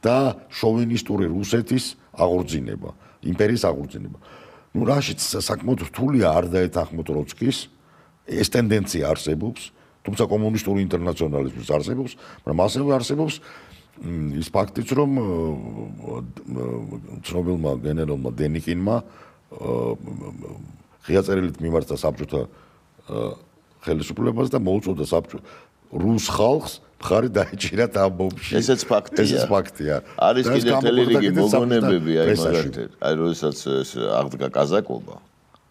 და შოვინისტური რუსეთის აღორძინება, იმპერიის აღორძინება. ნუ რაშიც საკმაოდ რთულია არ დაეთანხმოთ ტროცკის, ეს ტენდენცია არსებობს, თუმცა კომუნისტური ინტერნაციონალიზმის არსებობს, მაგრამ ასევე არსებობს ის ფაქტიც, რომ ცნობილმა გენერალმა დენიკინმა ღია წერილით მიმართა საბჭოთა ხელისუფლებას და მოუწოდა საბჭო რუს ხალხს მხარი დაეჭირათ ამ ომში. ესეც ფაქტია. ესეც ფაქტია. არის კიდევ მთელი რიგი მოგონებები აი მაგალითად. აი როდესაც აღდგა კაზაკობა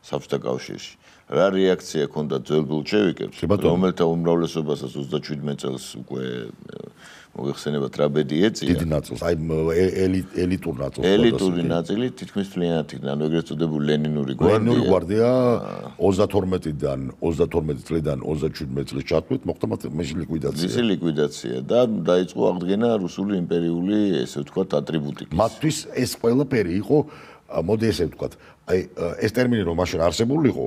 საბჭოთა კავშირში. რა რეაქცია ჰქონდა ძველ ბოლშევიკებს, რომელთა უმრავლესობასაც ოცდაშვიდმეტ წელს უკვე მოიხსენებათ ტრაბედი ეწია. დიდი ნაწილს, აი ელიტურ ნაწილს. ელიტური ნაწილი თითქმის მთლიანად იქნა, ანუ ეგრეთ წოდებული ლენინური გვარდია. ლენინური გვარდია ოცდათორმეტიდან ოცდათორმეტი წლიდან ოცდაშვიდმეტ წლის ჩათვლით მოხდა მისი ლიკვიდაცია. მისი ლიკვიდაცია და დაიწყო აღდგენა რუსული იმპერიული, ესე ვთქვათ, ატრიბუტიკის. მათთვის ეს ყველაფერი იყო, მოდი ესე ვთქვათ, აი ეს ტერმინი რომ მაშინ არსებული იყო,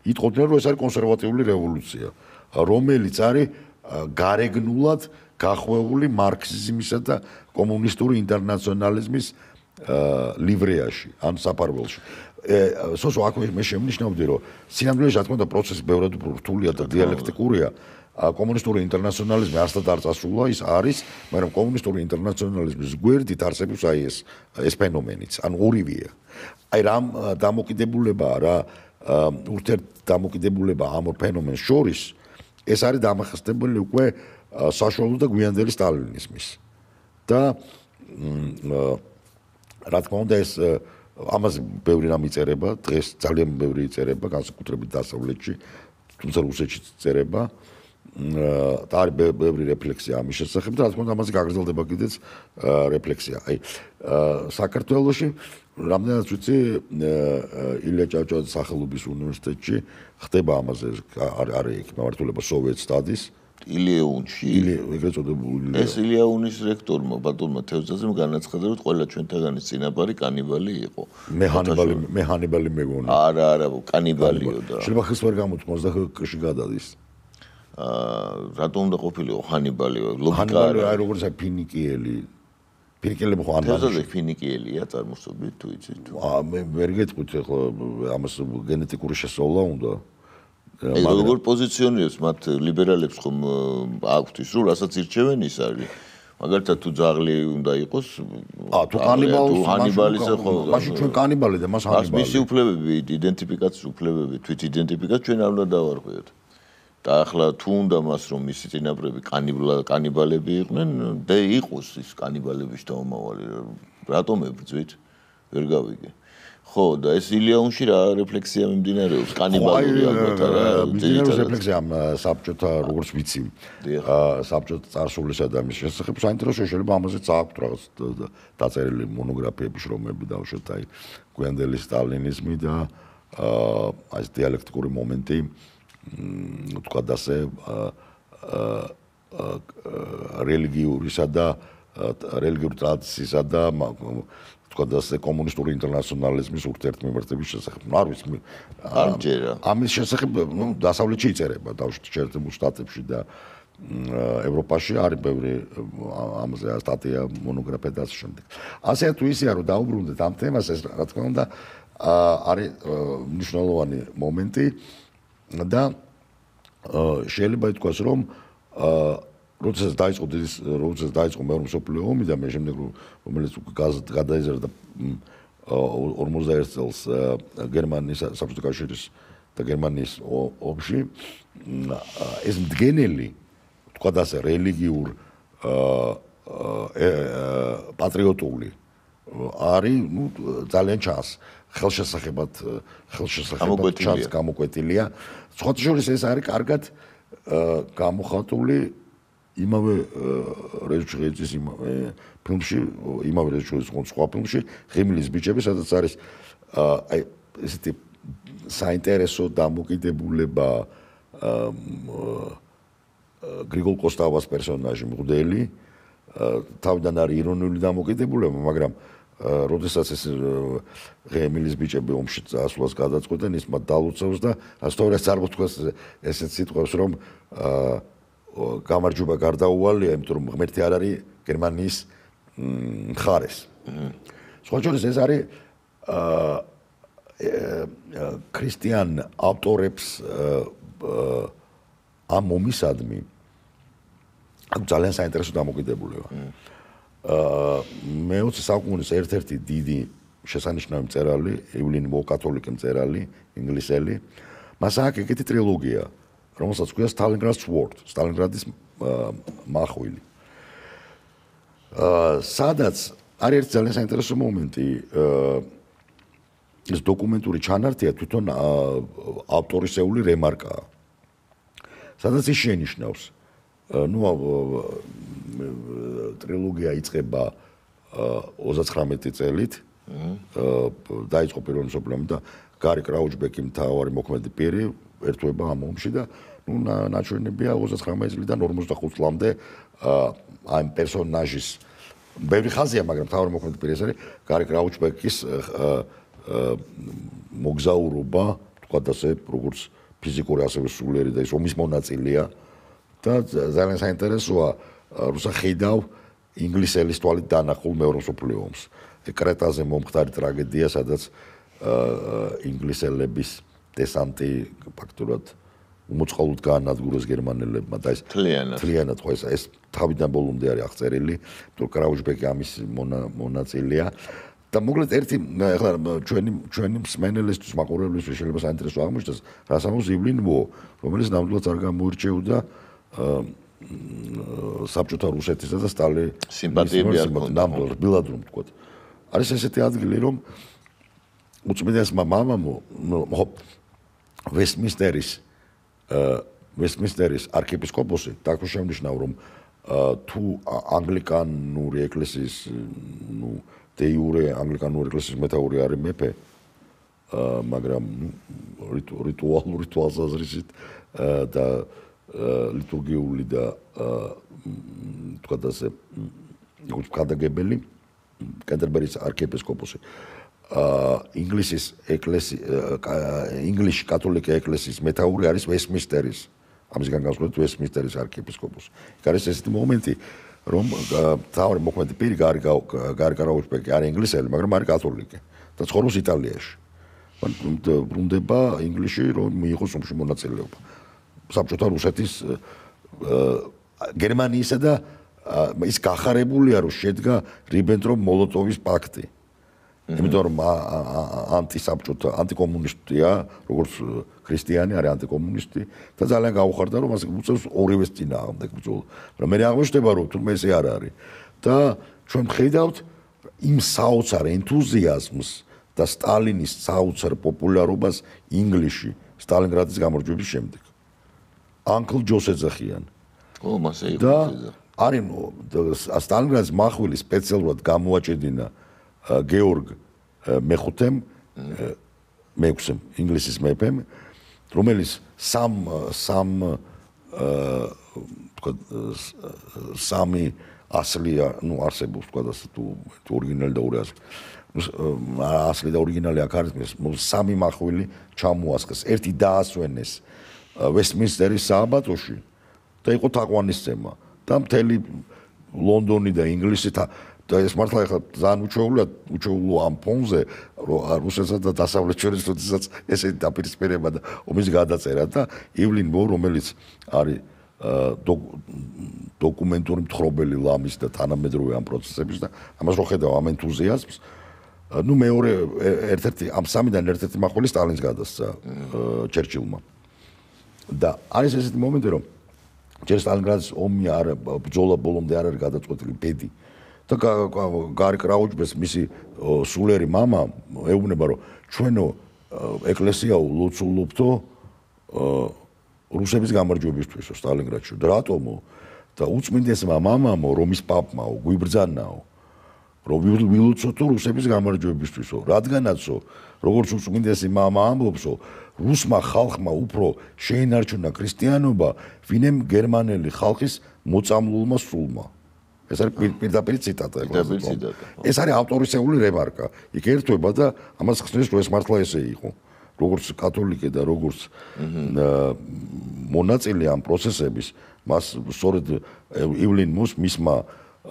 იტყოდნენ რომ ეს არის კონსერვატიული რევოლუცია, რომელიც არის გარეგნულად გახვეული მარქსიზმისა და კომუნისტური ინტერნაციონალიზმის ლივრეაში, ან საფარველში. სოსო აქ მე შემნიშნავდი, რომ სინამდვილეში რა თქმა უნდა პროცესი ბევრად რთულია და დიალექტიკურია. კომუნისტური ინტერნაციონალიზმი ასთან არ წასულა, ის არის, მაგრამ კომუნისტური ინტერნაციონალიზმის გვერდით არსებობს აი ეს ეს ფენომენიც, ანუ ორივეა. აი რამ დამოკიდებულებაა რა ურთიერთ დამოკიდებულება ამ ორ ფენომენს შორის, ეს არის დამახასიათებელი უკვე საშუალო და გვიანდელი სტალინიზმის. და რა თქმა უნდა ეს ამაზე ბევრი რამ იწერება, დღეს ძალიან ბევრი იწერება, განსაკუთრებით დასავლეთში, თუმცა რუსეთშიც იწერება. და არის ბევრი რეფლექსია ამის შესახებ და რა თქმა უნდა ამაზე გაგრძელდება კიდეც რეფლექსია. აი საქართველოში რამდენად ვიცი ილია ჭავჭავაძის სახელობის უნივერსიტეტში ხდება ამაზე არის იქ მმართველობა Soviet Studies ილიეუნში ეგრეთ წოდებული ეს ილიეუნის რექტორმა ბატონმა თევზაძემ განაცხადა რომ ყველა ჩვენთაგანის წინაპარი კანიბალი იყო. მე ჰანიბალი მე ჰანიბალი მეგონა. არა არა კანიბალიო და შეიძლება ხის ვერ გამოთქმოს და ხში გადადის. აა რატომ უნდა ყოფილიყო ჰანიბალი ლოგიკა ჰანიბალი აი როგორც აი ფინიკიელი ფინიკიელები ხო ანბანი თევზაძე ფინიკიელია წარმოსობით თუ იცით თუ აა მე ვერ გეტყვით ხო ამას გენეტიკური შესწავლა უნდა აი როგორ პოზიციონირებს მათ ლიბერალებს ხომ აქვთ ის რომ რასაც ირჩევენ ის არის მაგალითად თუ ძაღლი უნდა იყოს აა თუ კანიბალს ჰანიბალისა ხო მაშინ ჩვენ კანიბალი და მას ჰანიბალი მისი უფლებები იდენტიფიკაციის უფლებები თვით იდენტიფიკაცია ჩვენ არ უნდა დავარღვიოთ და ახლა თუ უნდა მას რომ მისი წინაპრები კანიბალები იყვნენ და იყოს ის კანიბალების დაუმავალი რატომ ებრძვით ვერ გავიგე ხო და ეს ილიეუნში რა რეფლექსია მიმდინარეობს კანიბალური ალბათ არა მიმდინარეობს რეფლექსია ამ საბჭოთა როგორც ვიცი საბჭოთა წარსულისა და მის შესახებ საინტერესო შეიძლება ამაზე წააქვთ რაღაც დაწერილი მონოგრაფიები შრომები დავუშვათ აი გვიანდელი სტალინიზმი და აი ეს დიალექტიკური მომენტი თქვა და ასე რელიგიურისა და რელიგიური ტრადიციისა და თქვა და ასე კომუნისტური ინტერნაციონალიზმის ურთიერთმემართების შესახებ. არ ვიცი. არ ჯერა. ამის შესახებ, ნუ დასავლეთში იწერება, დავუშვათ შეერთებულ შტატებში და ევროპაში არის ბევრი ამაზე სტატია, მონოგრაფია და ასე შემდეგ. ასე თუ ისეა რომ დაუბრუნდეთ ამ თემას, ეს რა თქმა უნდა არის მნიშვნელოვანი მომენტი და შეიძლება ითქვას რომ როდესაც დაიწყო როდესაც დაიწყო მეორე მსოფლიო ომი და მე შემდეგ რომელიც გადაიზარდა ორმოცდაერთ წელს გერმანიის საბჭოთა კავშირის და გერმანიის ომში ეს მდგენელი თქვა და ასე რელიგიურ პატრიოტული არის ნუ ძალიან ჩანს ხელშესახებად ხელშესახებად ჩანს გამოკვეთილია სხვათა შორის ეს არის კარგად გამოხატული იმავე რეჟისორის ფილმში იმავე რეჟისორის სხვა ფილმში ღიმილის ბიჭები სადაც არის აი ესეთი საინტერესო დამოკიდებულება გრიგოლ კოსტავას პერსონაჟი მღვდელი თავიდან არის ირონიული დამოკიდებულება მაგრამ როდესაც ეს ღიმილის ბიჭები ომში წასვლას გადაწყვეტენ ის მათ დალუწევს და სწორედ წარმოთქვას ესეც სიტყვებს რომ გამარჯვება გარდაუვალია, იმიტომ რომ ღმერთი არ არის გერმანიის მხარეს. სხვა შორის ეს არის ქრისტიან ავტორებს ამ ომისადმი აქ ძალიან საინტერესო დამოკიდებულება. მეოცე საუკუნის ერთ-ერთი დიდი შესანიშნავი მწერალი, ივლინ მო კათოლიკე მწერალი, ინგლისელი, მას აქვს ეგეთი ტრილოგია რომელსაც ქვია Stalingrad Sword, სტალინგრადის მახვილი. სადაც არის ერთი ძალიან საინტერესო მომენტი, ეს დოკუმენტური ჩანართია თვითონ ავტორისეული რემარკაა. სადაც ის შენიშნავს, ნუ ტრილოგია იწყება ოცდათხრამეტი წელით, დაიწყო პირველი მსოფლიო ომი და გარი კრაუჩბეკი მთავარი მოქმედი პირი ერთვება ამ ომში და ნუ ნაჩვენებია ოცდათხრამეტი წლიდან ორმოცდახუთ წლამდე ამ პერსონაჟის ბევრი ხაზია, მაგრამ მთავარი მოქმედი პირი ეს არის გარი კრაუჩბეკის მოგზაურობა, თქვა და ასე როგორც ფიზიკური ასევე სულიერი და ის ომის მონაწილეა და ძალიან საინტერესოა რუსა ხედავ ინგლისელის თვალით დანახულ მეორე მსოფლიო ომს. კრეტაზე მომხდარი ტრაგედია, სადაც ინგლისელების დესანტი ფაქტურად უმოწყალოდ გაანადგურეს გერმანელებმა და ეს თლიანად ხო ეს ეს თავიდან ბოლომდე არის აღწერილი, თუ კრაუჩბეკი ამის მონაწილეა და მოკლედ ერთი ახლა ჩვენი ჩვენი მსმენელისთვის მაყურებლისთვის შეიძლება საინტერესო აღმოჩნდეს, რას ამბობს ივლინ მო, რომელიც ნამდვილად არ გამოირჩეოდა საბჭოთა რუსეთისა და სტალინის სიმპათიები არ ჰქონდა ნამდვილად ბილად რომ ვთქვათ. არის ესეთი ადგილი რომ უწმიდესმა მამამო ხო ვესტმინსტერის ვესტმინსტერის არქიეპისკოპოსი დაქვე შემნიშნავ რომ თუ ანგლიკანური ეკლესიის ნუ დე იურე ანგლიკანური ეკლესიის მეთაური არის მეფე მაგრამ რიტუალური თვალსაზრისით და ლიტურგიული და თქვათ ასე კადაგებელი კენტერბერის არქიეპისკოპოსი ინგლისის ეკლესია ინგლისში კათოლიკე ეკლესიის მეთაური არის ვესტმინსტერის ამისგან განსხვავებით ვესტმინსტერის არქიეპისკოპოსი. იქ არის ესეთი მომენტი რომ თავი მოქმედი პირი გარი გარი კარაუშბეკი არის ინგლისელი მაგრამ არის კათოლიკე და ცხოვრობს იტალიაში. ბრუნდება ინგლისში რომ მიიღოს ომში მონაწილეობა. საბჭოთა რუსეთის გერმანიისა და ის გახარებულია რომ შედგა რიბენტროპ-მოლოტოვის პაქტი. იმიტომ რომ ანტისაბჭოთა ანტიკომუნისტია, როგორც ქრისტიანი არის ანტიკომუნისტი და ძალიან გაუხარდა რომ ასე უწევს ორივეს წინააღმდეგ ბრძოლა. მაგრამ მე აღმოჩნდება რომ თურმე ესე არ არის. და ჩვენ ხედავთ იმ საოცარ ენთუზიაზმს და სტალინის საოცარ პოპულარობას ინგლისში სტალინგრადის გამარჯვების შემდეგ. Uncle Joe ეძახიან. ო, მასე იყო და არის სტალინგრადის מחვილი სპეციალურად გამოაჭედინა გეორგ მეხუთემ მეექვსემ ინგლისის მეფემ რომელიც სამ სამ თქვა სამი ასლია ნუ არსებობს თქვა ასე თუ ორიგინალი და ორი ასლი ასლი და ორიგინალი აქ არის სამი მახვილი ჩამოასხეს ერთი დაასვენეს ვესტმინსტერის სააბატოში და იყო თაყვანისცემა და მთელი ლონდონი და ინგლისი და ეს მართლა ახლა ძალიან უჩვეულია უჩვეულო ამ ფონზე რომ რუსეთსა და დასავლეთ შორის როდესაც ესეთი დაპირისპირება და ომის გადაწერა და ივლინ მო რომელიც არის დოკუმენტური მთხრობელი ლამის და თანამედროვე ამ პროცესების და ამას რო ხედავ ამ ენთუზიაზმს ნუ მეორე ერთ-ერთი ამ სამიდან ერთ-ერთი მახვილი სტალინს გადასცა ჩერჩილმა და არის ესეთი მომენტი რომ ჯერ სტალინგრადის ომი არ ბრძოლა ბოლომდე არ არის გადაწყვეტილი ბედი და გარი კრაუჩბეს მისი სულერი мама ეუბნება რომ ჩვენო ეკლესიაო ლოცულობთო რუსების გამარჯვებისთვისო სტალინგრადში და რატომო და უწმინდესმა მამამო რომის პაპმაო გვიბრძანაო რომ ვილოცოთო რუსების გამარჯვებისთვისო რადგანაცო როგორც უწმინდესი მამა ამბობსო რუსმა ხალხმა უფრო შეინარჩუნა ქრისტიანობა ვინემ გერმანელი ხალხის მოწამლულმა სულმა ეს არის პირდაპირ ციტატა ეს არის ავტორისეული რემარკა იქ ერთვება და ამას ხსნის რომ ეს მართლა ესე იყო როგორც კათოლიკე და როგორც მონაწილე ამ პროცესების მას სწორედ ივლინ მოს მისმა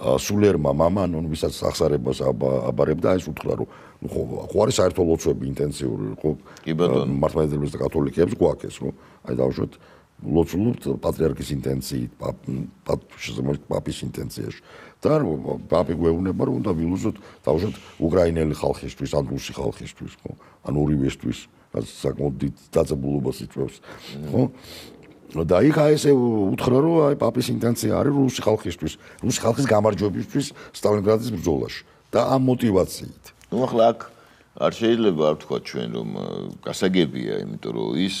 სულერმა მამან ვისაც სახსარებას აბარებდა ეს უთხრა რომ ხო არის საერთო ლოცვები ინტენსიური ხო მართლმადიდებლებს და კათოლიკეებს გვაქვს ხო აი დავუშვათ ლოცულობთ პატრიარქის ინტენციით პაპის ინტენციაში და პაპი გვეუბნება რომ უნდა ვილოცოთ დავუშვათ უკრაინელი ხალხისთვის ან რუსი ხალხისთვის ხო ან ორივესთვის რაც საკმაოდ დიდ დაძაბულობას იწვევს ხო და იქ აი ესე უთხრა რომ აი პაპის ინტენცია არის რუსი ხალხისთვის რუსი ხალხის გამარჯვებისთვის სტალინგრადის ბრძოლაში და ამ мотивაციით ნუ ახლა აქ არ შეიძლება არ ვთქვა ჩვენ რომ გასაგებია იმიტომ რომ ის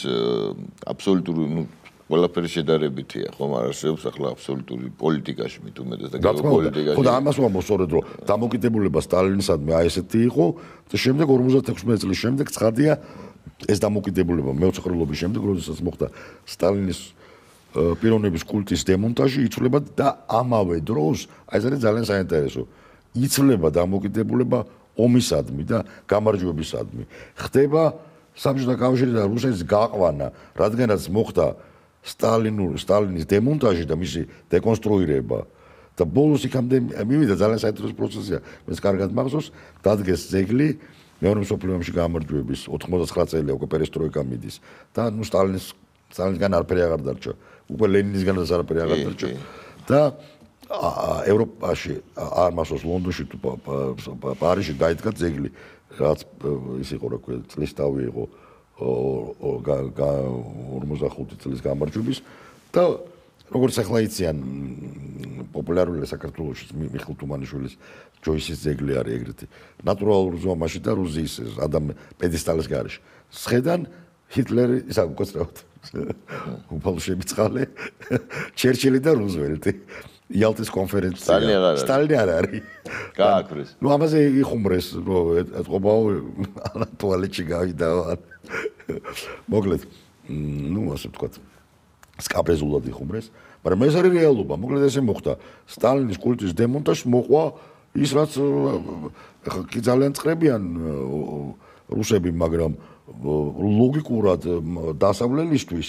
აბსოლუტური ნუ ყველაფერი შედარებითია ხომ არ არსებობს ახლა აბსოლუტური პოლიტიკაში მით უმეტეს და გეოპოლიტიკაში ხო და ამას ვამბობ სწორედ რომ დამოკიდებულება სტალინისადმი აი ესეთი იყო და შემდეგ ორმოცდაექვსი წლის შემდეგ ცხადია ეს დამოკიდებულება მეოცხრილობის შემდეგ როდესაც მოხდა სტალინის პიროვნების კულტის დემონტაჟი იცვლება და ამავე დროს აი ეს არის ძალიან საინტერესო იცვლება დამოკიდებულება ომისადმი და გამარჯვებისადმი ხდება საბჭოთა კავშირი და რუსეთის გაყვანა რადგანაც მოხდა სტალინური სტალინის დემონტაჟი და მისი დეკონსტრუირება და ბოლოს იქამდე მივიდა ძალიან საინტერესო პროცესია მე კარგად მახსოვს დადგეს ძეგლი მეორე მსოფლიო ომში გამარჯვების ოთხმოცდაცხრა წელია უკვე პერესტროიკა მიდის და ნუ სტალინის სტალინისგან არაფერი აღარ დარჩა უკვე ლენინისგანაც არაფერი აღარ დარჩა და ევროპაში არ მახსოვს ლონდონში თუ პარიზში დაიდგა ძეგლი რაც ის იყო რა ქვია წლის თავი იყო ორმოცდახუთი წლის გამარჯვების და როგორც ახლა იციან პოპულარული საქართველოში მიხეილ თუმანიშვილის ჯოისის ძეგლი არის ეგრეთი ნატურალურ ზომაში და რუზიის ადამ პედესტალის გარეშე. სხედან ჰიტლერი ისა უკაცრავად უფალო შემიწყალე ჩერჩილი და რუზველტი იალტის კონფერენცია სტალინი არ არის სტალინი არ არის გააკრეს ნუ ამაზე იხუმრეს რომ ეთყობაო ტუალეტში გავიდა მოკლედ ნუ ასე ვთქვათ სკაპეზულად იხუმრეს მაგრამ ეს არის რეალობა მოკლედ ესე მოხდა სტალინის კულტის დემონტაჟს მოყვა ის რაც კი ძალიან წრებიან რუსები მაგრამ ლოგიკურად დასავლელისთვის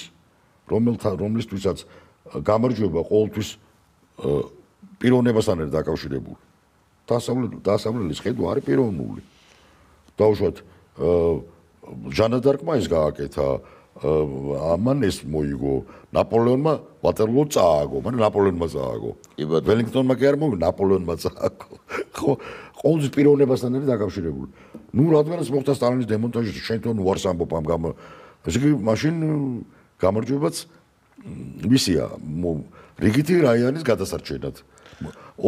რომელთა რომლისთვისაც გამარჯვება ყოველთვის პიროვნებასთან არის დაკავშირებული დასავლელის ხედვა არის პიროვნული დაუშვათ ჟანა დარკმა ის გააკეთა ამან ეს მოიგო ნაპოლეონმა ვატერლო წააგო მაგრამ ნაპოლეონმა წააგო ველინგტონმა კი არ მოიგო ნაპოლეონმა წააგო ხო ყოველთვის პიროვნებასთან არის დაკავშირებული ნუ რადგანაც მოხდა სტალინის დემონტაჟი შენ თვითონ უარს ამბობ ამ გამ ესე იგი მაშინ გამარჯვებაც მისია რიგითი რაიონის გადასარჩენად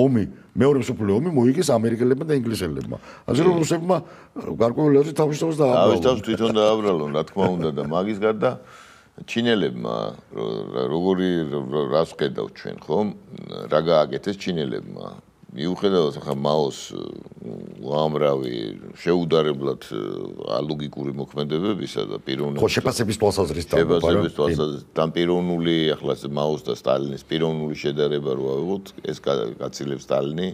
ომი მეორე მსოფლიო ომი მოიგეს ამერიკელებმა და ინგლისელებმა ასე რომ რუსებმა გარკვეული აზრით თავის თავს დააბრალონ თავის თავს თვითონ დააბრალონ რა თქმა უნდა და მაგის გარდა ჩინელებმა როგორი რას ვხედავთ ჩვენ ხო რა გააკეთეს ჩინელებმა მიუხედავად ახლა მაოს უამრავი შეუდარებლად ალოგიკური მოქმედებებისა და პიროვნული ხო შეფასების თვალსაზრისით შეფასების თვალსაზრისით და პიროვნული ახლა მაოს და სტალინის პიროვნული შედარება რო ავიღოთ ეს გაცილებს სტალინი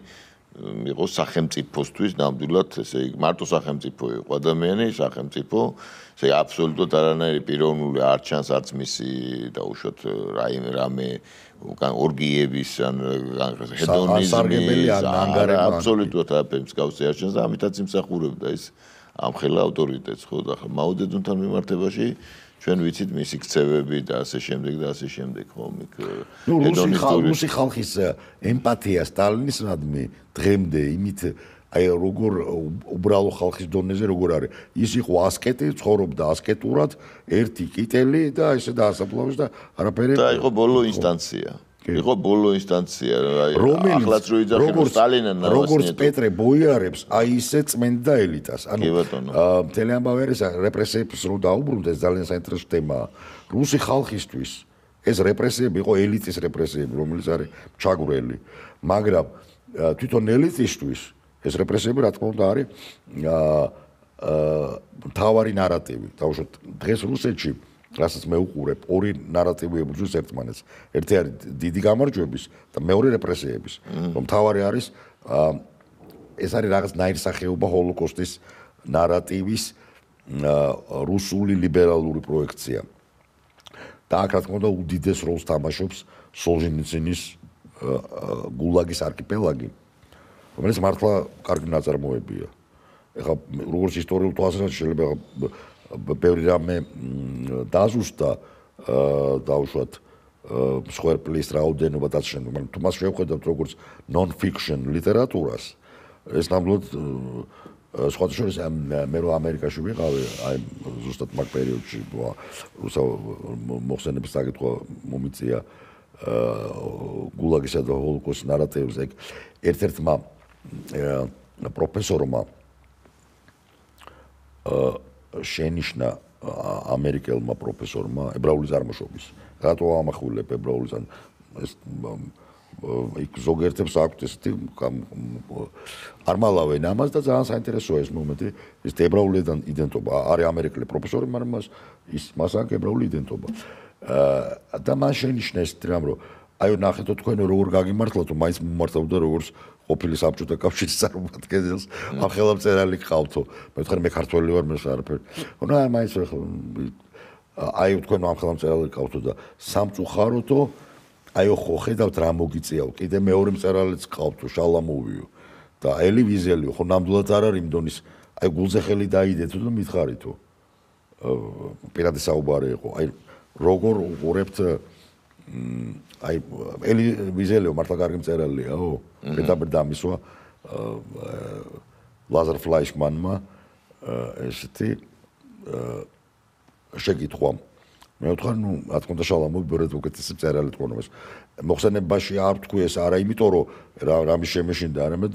იყოს სახელმწიფოსთვის ნამდვილად ესე იგი მარტო სახელმწიფო იყო ადამიანი სახელმწიფო ესე იგი აბსოლუტურად არანაირი პიროვნული არ ჩანს არც მისი დაუშვათ რაიმე რამე უკან ორგიების ან ჰედონიზმის აბსოლუტურად არაფერს მსგავსი არ ჩანს და ამიტაც იმსახურებდა ის ამხელა ავტორიტეტს ხო და ახლა მაოდედუნთან მიმართებაში ჩვენ ვიცით მისი ქცევები და ასე შემდეგ და ასე შემდეგ ხო მიქ რუსი ხალხის ემპათია სტალინისადმი დღემდე იმით აი როგორ უბრალო ხალხის დონეზე როგორ არის ის იყო ასკეტი ცხოვრობდა ასკეტურად ერთი კიტელი და ესე დაასაფლავეს და არაფერი და იყო ბოლო ინსტანცია იყო ბოლო ინსტანცია აი ახლაც რო იძახილოს სტალინთან როგორც პეტრე ბოიარებს აი ისე წმენდა ელიტას ანუ მთელი ამბავი არის რეპრესიებს რო დაუბრუნდეს ძალიან საინტერესო თემაა რუსი ხალხისთვის ეს რეპრესიები იყო ელიტის რეპრესიები რომელიც არის ჩაგვრელი მაგრამ თვითონ ელიტისთვის ეს რეპრესიები რა თქმა უნდა არის თავარი ნარატივი თავშოთ დღეს რუსეთში რასაც მე უყურებ ორი ნარატივი ებრძვის ერთმანეთს ერთი არის დიდი გამარჯვების და მეორე რეპრესიების რომ თავარი არის ეს არის რაღაც ნაირსახეობა ჰოლოკოსტის ნარატივის რუსული ლიბერალური პროექცია და აქ რა თქმა უნდა უდიდეს როლს თამაშობს სოლჟენიცინის გულაგის არქიპელაგი რომელიც მართლა კარგი ნაწარმოებია ეხლა როგორც ისტორიულ თვალსაზრისით შეიძლება ბევრი რამე დაზუსტა დაუშვათ მსხვერპლის რაოდენობა და ასე შემდეგ მაგრამ თუ მას შევხედავთ როგორც non-fiction ლიტერატურას ეს ნამდვილად სხვათა შორის მე რო ამერიკაში ვიყავი აი ზუსტად მაგ პერიოდში რუსა მოხსენების საკითხვა მომიწია გულაგისა და ჰოლოკოსტის ნარატივზე ერთ-ერთმა პროფესორმა შენიშნა ამერიკელმა პროფესორმა ებრაული წარმოშობის რატო ამახვილებ ებრაულის ან ეს იქ ზოგიერთებს აქვთ ესეთი არ მალავენ ამას და ძალიან საინტერესოა ეს მომენტი ეს ებრაული იდენტობა არის ამერიკელი პროფესორი მაგრამ მას ის მას აქვს ებრაული იდენტობა და მან შენიშნა ეს რამ რომ აი ნახეთო თქვენ როგორ გაგიმართლათ რომ მაინც მომართავდა როგორც ყოფილი საბჭოთა კავშირის წარმომადგენელს ამ ხელმწერალი ყავთო მე ვთქვი მე ქართველი ვარ მე არაფერი ნუ აი მაინც აი თქვენ ამ ხელმწერალი ყავთო და სამწუხაროთო აი ხო ხედავთ რა მოგიწიაო კიდე მეორე მწერალიც ყავთო შალამოვიო და ელი ვიზელიო ხო ნამდვილად არ არის იმ დონის აი გულზე ხელი დაიდეთო და მითხარითო პირადი საუბარი იყო აი როგორ უყურებთ აი ელი ვიზელიო მართლა კარგი მწერალიაო მეტაბერ დამისვა ლაზარ ფლაიშმანმა ესეთი შეკითხვა მე ვთქვა ნუ რა თქმა უნდა შალამოვი ბევრად უკეთესი მწერალი თქვენობას მოხსენებაში არ თქვი ეს არა იმიტომ რომ რამის შემეშინდა არამედ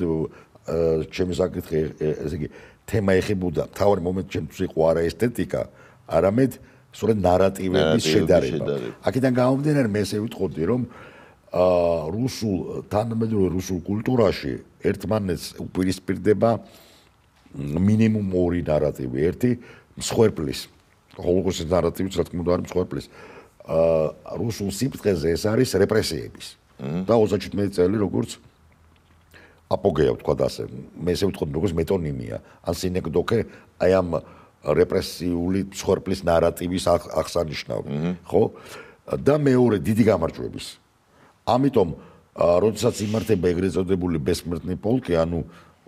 ჩემი საკითხი ესე იგი თემა ეხებოდა თავი მომენტ ჩემთვის იყო არა ესთეტიკა არამედ სწორედ ნარატივების შედარება. აქედან გამომდინარე მე ესე ვიტყოდი, რომ რუსულ თანამედროვე რუსულ კულტურაში ერთმანეთს უპირისპირდება მინიმუმ ორი ნარატივი. ერთი მსხვერპლის, ჰოლოკოსტის ნარატივი, რა თქმა უნდა, არის მსხვერპლის. რუსულ სიფრთხეზე ეს არის რეპრესიების. და ოცდაჩვიდმეტი წელი როგორც აპოგეა ვთქვა და ასე. მე ესე ვიტყოდი, როგორც მეტონიმია, ან სინეკდოქე აი ამ რეპრესიული მსხვერპლის ნარატივის აღსანიშნავი, ხო? და მეორე დიდი გამარჯვების. ამიტომ, როდესაც იმართება ეგრეთ წოდებული ბესმერტნი პოლკი, ანუ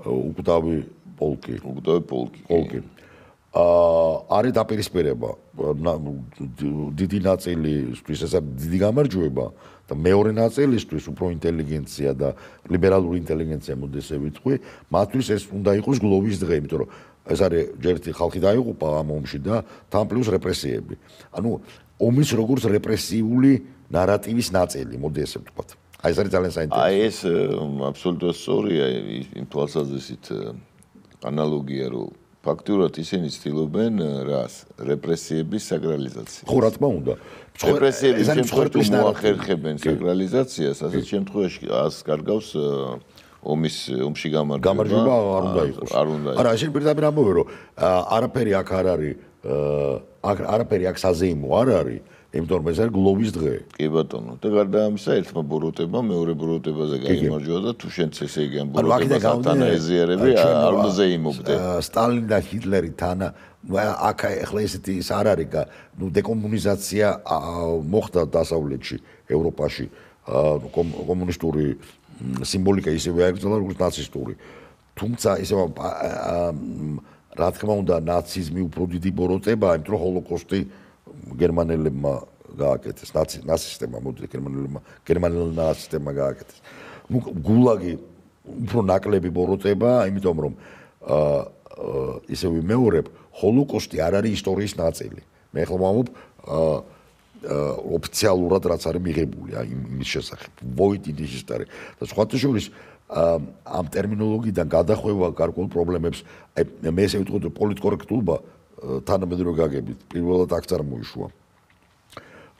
უკვდავი პოლკი, უკვდავი პოლკი. პოლკი. აა არის დაპირისპირება. დიდი ნაწილისთვის ეს არის დიდი გამარჯვება და მეორე ნაწილისთვის უფრო ინტელიგენცია და ლიბერალური ინტელიგენცია მოდი ესე ვიტყვი, მათთვის ეს უნდა იყოს გლოვის დღე, იმიტომ რომ ეს არის ჯერ ერთი ხალხი დაიღუპა ამ ომში და თან პლუს რეპრესიები. ანუ ომის როგორც რეპრესიული ნარატივის ნაწილი, მოდი ესე ვთქვათ. აი ეს არის ძალიან საინტერესო. აი ეს აბსოლუტურად სწორია იმ თვალსაზრისით ანალოგია, რომ ფაქტურად ისინი ცდილობენ რას? რეპრესიების საკრალიზაციას. ხო, რა თქმა უნდა. რეპრესიების შემთხვევაში მოახერხებენ საკრალიზაციას, ასეთ შემთხვევაში ას კარგავს ომის ომში გამარჯვება. გამარჯვება არ უნდა იყოს. არ უნდა. არა, შენ პირდაპირ ამბობე, რომ არაფერი აქ არ არის, არაფერი აქ საზეიმო არ არის. იმიტომ რომ ეს არის გლოვის დღე. კი ბატონო, და გარდა ამისა, ერთმა ბოროტება მეორე ბოროტებაზე გაიმარჯვა და თუ შენც ესე იგი ამ ბოროტებას თანა ეზიარები, არ უნდა ზეიმობდე. სტალინი და ჰიტლერი თანა, აქ ახლა ესეთი ის არ არის, ნუ დეკომუნიზაცია მოხდა დასავლეთში, ევროპაში, კომუნისტური სიმბოლიკა ისევე აიგრძელა, როგორც ნაცისტური. თუმცა ისე რა თქმა უნდა, ნაციზმი უფრო დიდი ბოროტებაა, იმიტომ რომ ჰოლოკოსტი გერმანელებმა გააკეთეს, ნაცისტებმა, მოდი გერმანელებმა, გერმანელებმა ნაცისტებმა გააკეთეს. ნუ გულაგი უფრო ნაკლები ბოროტებაა, იმიტომ რომ ისე ვიმეორებ, ჰოლოკოსტი არ არის ისტორიის ნაწილი. მე ახლა ვამბობ ოფიციალურად რაც არის მიღებული იმის შესახებ. Void in history. და სხვათა შორის ამ ტერმინოლოგიიდან გადახვევა გარკვეულ პრობლემებს, აი მე ესე ვიტყოდი, პოლიტკორექტულობა თანამედროვე გაგებით პირველად აქ წარმოიშვა.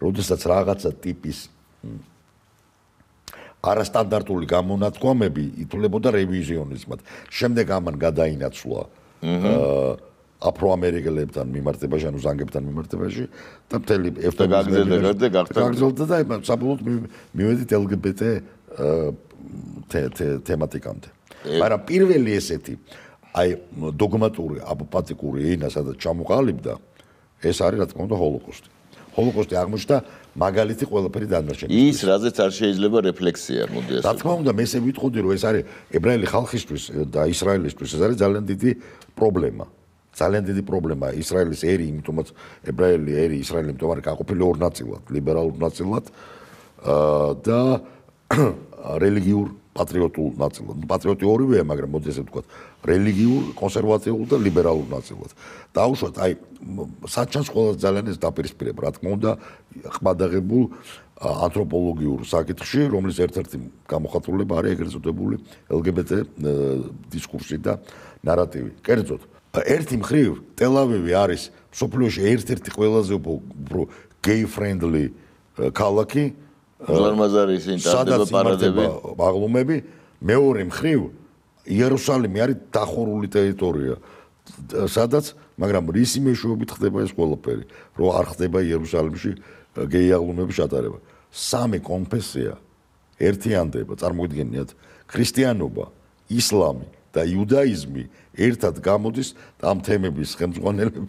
როდესაც რაღაცა ტიპის არასტანდარტული გამონათქვამები ითვლებოდა რევიზიონიზმად. შემდეგ ამან გადაინაცვლა აფროამერიკელებთან მიმართებაში, ანუ ზანგებთან მიმართებაში და მთელი ევთანაზია გაგრძელდა და საბოლოოდ მივედით ელ გი ბი ტე თემატიკამდე. მაგრამ პირველი ესეთი აი დოგმატური აპოპატიკური ენა სადაც ჩამოყალიბდა, ეს არის რა თქმა უნდა ჰოლოკოსტი. ჰოლოკოსტი აღმოჩნდა მაგალითი ყველაფერი დანარჩენისთვის. ის რაზეც არ შეიძლება რეფლექსია, მოდი ასე. რა თქმა უნდა, მე ესე ვიტყოდი, რომ ეს არის ებრაელი ხალხისთვის და ისრაელისთვის, ეს არის ძალიან დიდი პრობლემა. ძალიან დიდი პრობლემა ისრაელის ერი, იმიტომაც ებრაელი ერი, ისრაელი იმიტომ არის გაყოფილი ორ ნაწილად, ლიბერალურ ნაწილად და რელიგიურ პატრიოტულ ნაწილად. პატრიოტი ორივეა, მაგრამ მოდი ესე ვთქვათ, რელიგიურ, კონსერვატიულ და ლიბერალურ ნაწილად. დაუშვათ, აი საჩანს ყველაზე ძალიან ეს დაპირისპირება, რა თქმა უნდა, ხმადაღებულ ანთროპოლოგიურ საკითხში, რომლის ერთ-ერთი გამოხატულება არის ეგრეთ წოდებული ელ გი ბი ტე დისკურსი და ნარატივი. კერძოდ, ერთი მხრივ ტელ-ავივი არის მსოფლიოში ერთ-ერთი ყველაზე უფრო gay friendly ქალაქი, უზარმაზარი ინტერნეტი პარადები, ბაღლუმები, მეორე მხრივ იერუსალიმი არის დახურული ტერიტორია, სადაც, მაგრამ რისი მეშვეობით ხდება ეს ყველაფერი, რომ არ ხდება იერუსალიმში გეი აღლუმების ჩატარება. სამი კონფესია ერთიანდება, წარმოიდგინეთ, ქრისტიანობა, ისლამი და იუდაიზმი ერთად გამოდის და ამ თემების ხელმძღვანელები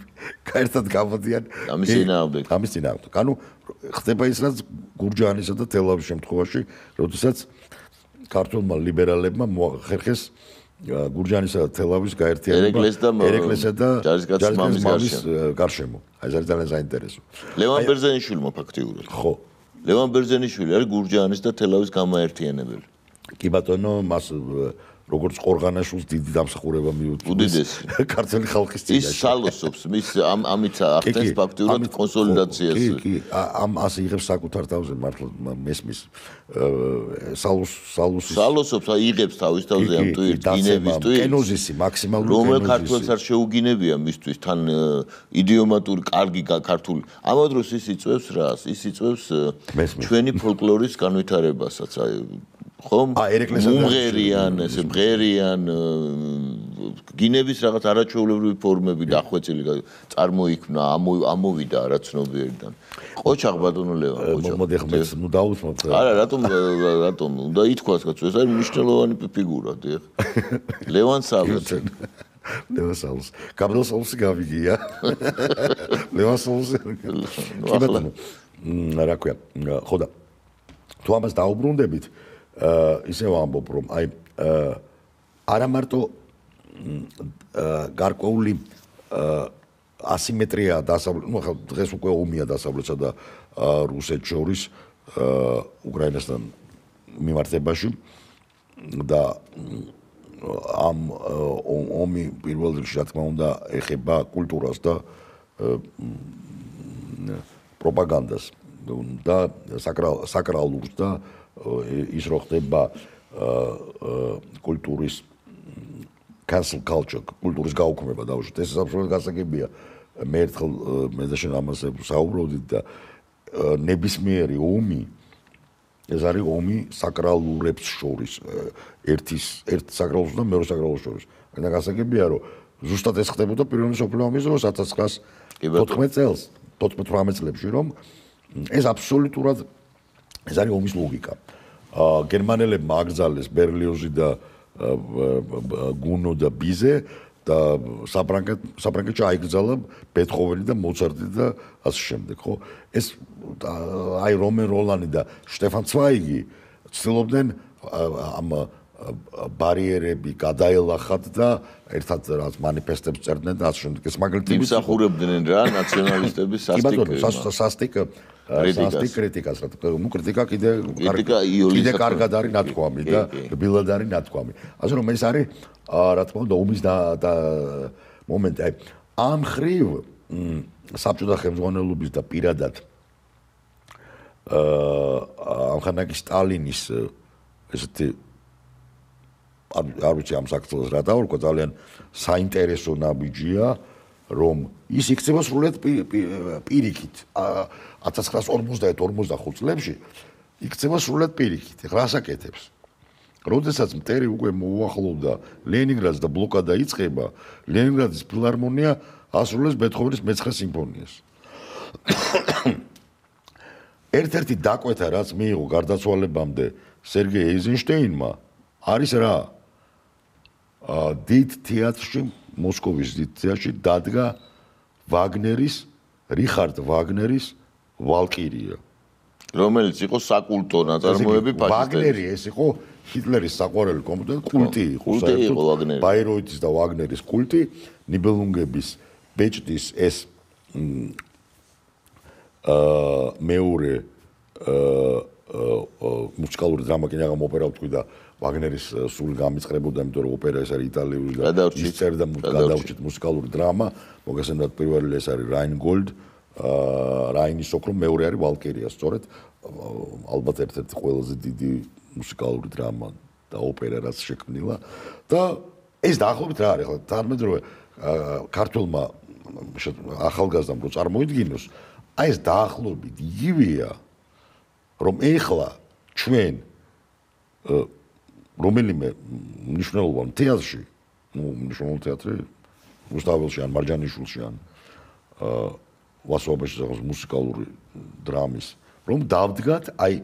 ერთად გამოდიან ამის წინააღმდეგ. ამის წინააღმდეგ. ანუ ხდება ის რაც გურჯაანისა და თელ-ავის შემთხვევაში, როდესაც ქართულმა ლიბერალებმა მოახერხეს გურჯაანისა და თელ-ავის გაერთიანება ერეკლესა და ჯარისკაცის გარშემო. აი ეს არის ძალიან საინტერესო. ლევან ბერძენიშვილმა ფაქტიურად. ხო. ლევან ბერძენიშვილი არის გურჯაანის და თელ-ავის გამაერთიანებელი. კი ბატონო, მას როგორც ყორღანაშვილს დიდი დამსახურება მიუწევს. უდიდესი. ქართული ხალხის წინაშე. ის სალოსობს, მის ამ ამით ახდენს ფაქტიურად კონსოლიდაციას. კი, კი, ამ ასე იღებს საკუთარ თავზე მართლა მესმის სალოს სალოსის სალოსობს, იღებს თავის თავზე ამ ტვირთს, გინების ტვირთს. კენოზისი, მაქსიმალური კენოზისი. რომელ ქართველს არ შეუგინებია მისთვის თან იდიომატური კარგი ქართული. ამავდროულად ის იწვევს რას? ის იწვევს ჩვენი ფოლკლორის განვითარებასაც, აი ხომ? მომღერიან, ესე მღერიან გინების რაღაც არაჩვეულებრივი ფორმები დახვეწილი წარმოიქმნა, ამოვიდა არაცნობიერიდან. ყოჩაღ ბატონო ლევან, ყოჩაღ. მოდი ახლა მეც ნუ დაუსმოთ. არა, რატომ რატომ უნდა ითქვას კაცო, ეს არის მნიშვნელოვანი ფიგურა, დიახ. ლევან სალოს. ლევან სალოს. გაბრიელ სალოსი გავიგია. ლევან სალოსი. კი ბატონო. რა ქვია? ხო და თუ ამას დაუბრუნდებით, ისევ ამბობ რომ აი არა მარტო გარკვეული ასიმეტრია დასავლეთ, ну ხა დღეს უკვე ომია დასავლეთსა და რუსეთს შორის უკრაინასთან მიმართებაში და ამ ომი პირველ რიგში რა თქმა უნდა ეხება კულტურას და პროპაგანდას და საკრალურს და ის რო ხდება კულტურის cancel culture, კულტურის გაუქმება დავუშვათ. ეს აბსოლუტურად გასაგებია. მე ერთხელ მე და შენ ამაზე საუბრობდით და ნებისმიერი ომი ეს არის ომი საკრალურებს შორის, ერთის ერთ საკრალურს და მეორე საკრალურს შორის. და გასაგებია რომ ზუსტად ეს ხდებოდა პირველი მსოფლიო ომის დროს ათას ცხრაასი თოთხმეტ წელს, თოთხმეტ ორმოცდაათი წლებში რომ ეს აბსოლუტურად ეს არის ომის ლოგიკა. გერმანელებმა აკრძალეს ბერლიოზი და გუნო და ბიზე და საფრანგეთში აიკრძალა ბეთჰოვენი და მოცარტი და ასე შემდეგ, ხო? ეს აი რომენ როლანი და შტეფან ცვაიგი ცდილობდნენ ამ ბარიერები გადაელახათ და ერთად რაც მანიფესტებს წერდნენ და ასე შემდეგ. ეს მაგალითად იმსახურებდნენ რა ნაციონალისტების სასტიკ სასტიკ კრიტიკას რა თქმა უნდა. ნუ კრიტიკა კიდე კიდე კარგად არის ნათქვამი და რბილად არის ნათქვამი. ასე რომ ეს არის რა თქმა უნდა ომის და მომენტი. აი ამ ხრივ საბჭოთა ხელმძღვანელობის და პირადად ამხანაგი სტალინის ესეთი არ ვიცი ამ საქართველოს რა დავარქვა ძალიან საინტერესო ნაბიჯია რომ ის იქცევა სრულად პირიქით ათას ცხრაასი ორმოცდაერთი ორმოცდახუთ წლებში იქცევა სრულად პირიქით. ეხლა ასაკეთებს. როდესაც მტერი უკვე მოუახლოვდა ლენინგრადს და ბლოკადა იწყება, ლენინგრადის ფილარმონია ასრულებს ბეთჰოვენის მეცხრე სიმფონიას. ერთ-ერთი დაკვეთა რაც მიიღო გარდაცვალებამდე სერგეი ეიზენშტეინმა არის რა? დიდ თეატრში, მოსკოვის დიდ თეატრში დადგა ვაგნერის, რიხარდ ვაგნერის ვალკირია. რომელიც იყო საკულტო ნაწარმოები ფაშისტების. ვაგნერი ეს იყო ჰიტლერის საყვარელი კომპოზიტორი, კულტი იყო საერთოდ. ბაიროიტის და ვაგნერის კულტი, ნიბელუნგების, ბეჭდის ეს აა მეორე აა მუსიკალური დრამა კი რაღაც ოპერა ვთქვი და ვაგნერის სულ გამიწყრებოდა, იმიტომ რომ ოპერა ეს არის იტალიური და ის წერდა გადავრჩით მუსიკალური დრამა. მოგესალმებით პირველი ეს არის რაინგოლდ, აა რაინის ოქრო, მეორე არის ვალკირია, სწორედ ალბათ ერთ-ერთი ყველაზე დიდი მუსიკალური დრამა და ოპერა რაც შექმნილა და ეს დაახლოებით რა არის ხო თანამედროვე ქართულმა ახალგაზრდამ რო წარმოიდგინოს აი ეს დაახლოებით იგივეა რომ ეხლა ჩვენ რომელიმე მნიშვნელოვან თეატრში ну მნიშვნელოვან თეატრი რუსთაველში ან მარჯანიშვილში ან ვასოობაში რაღაც მუსიკალური დრამის რომ დავდგათ აი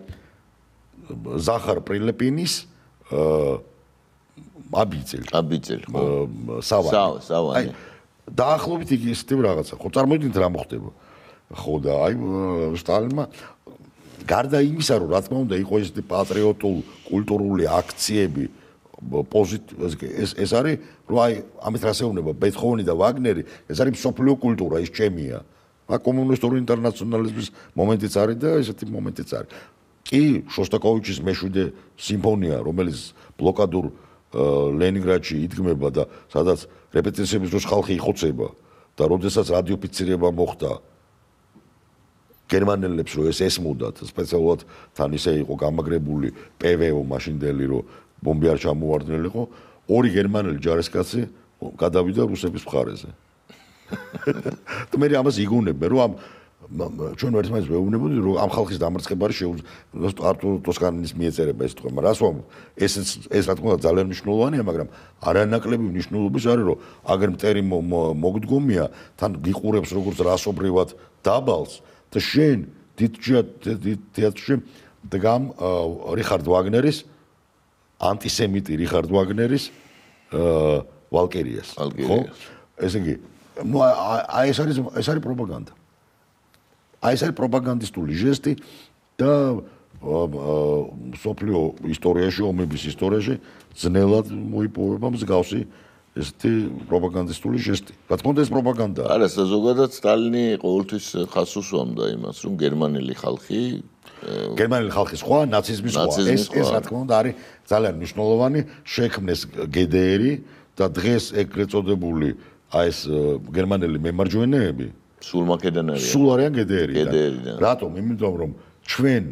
ზახარ პრილეპინის აბიძელი აბიძელი ხო სავანი სავანი დაახლოებით იგი ისეთი რაღაცა ხო წარმოიდგინეთ რა მოხდება ხო და აი სტალინმა გარდა იმისა რომ რა თქმა უნდა იყო ესეთი პატრიოტულ კულტურული აქციები ეს ეს არის რომ აი ამით რასეუნება ბეთჰოვენი და ვაგნერი ეს არის მსოფლიო კულტურა ის ჩემია ა კომუნისტური ინტერნაციონალიზმის მომენტიც არის და ესეთი მომენტიც არის კი შოსტაკოვიჩის მეშვიდე სიმფონია რომელიც ბლოკადურ ლენინგრადში იდგმება და სადაც რეპეტიციების დროს ხალხი იხოცება და როდესაც რადიოფიცირება მოხდა გერმანელებს რომ ეს ესმოდათ სპეციალურად თან ისე იყო გამაგრებული პვო მაშინდელი რომ ბომბი არ ჩამოვარდნილიყო ორი გერმანელი ჯარისკაცი გადავიდა რუსების მხარეზე და მე ამას იგონებენ რომ ამ ჩვენ ერთმანეთს ვეუბნებოდი რომ ამ ხალხის დამარცხება არის შეუძლებელი არტურ ტოსკანის მიეწერება ეს თქმა რას ვამ ეს ეს რა თქმა უნდა ძალიან მნიშვნელოვანია მაგრამ არანაკლები მნიშვნელობის არის რომ აგერ მტერი მოგდგომია თან გიყურებს როგორც რასობრივად დაბალს და შენ დიდ თეატრში დგამ რიხარდ ვაგნერის ანტისემიტი რიხარდ ვაგნერის ვალკერიას ხო ესე იგი ну აი ეს არის ეს არის პროპაგანდა აი ეს არის პროპაგანდისტული ჟესტი და სოფლიო ისტორიაში ომების ისტორიაში ძნელად მოიპოვება მსგავსი ესეთი პროპაგანდისტული ჟესტი. რა თქმა უნდა ეს პროპაგანდაა. არა, ზოგადად სტალინი ყოველთვის ხაზს უსვამდა იმას, რომ გერმანელი ხალხი გერმანელი ხალხი სხვა, ნაციზმი სხვა. ეს ეს რა თქმა უნდა არის ძალიან მნიშვნელოვანი შექმნეს გდრ და დღეს ეგრეთ წოდებული აი ეს გერმანელი მემარჯვენეები სულ მაკედან არიან. სულ არიან გდრ-დან. რატომ? იმიტომ რომ ჩვენ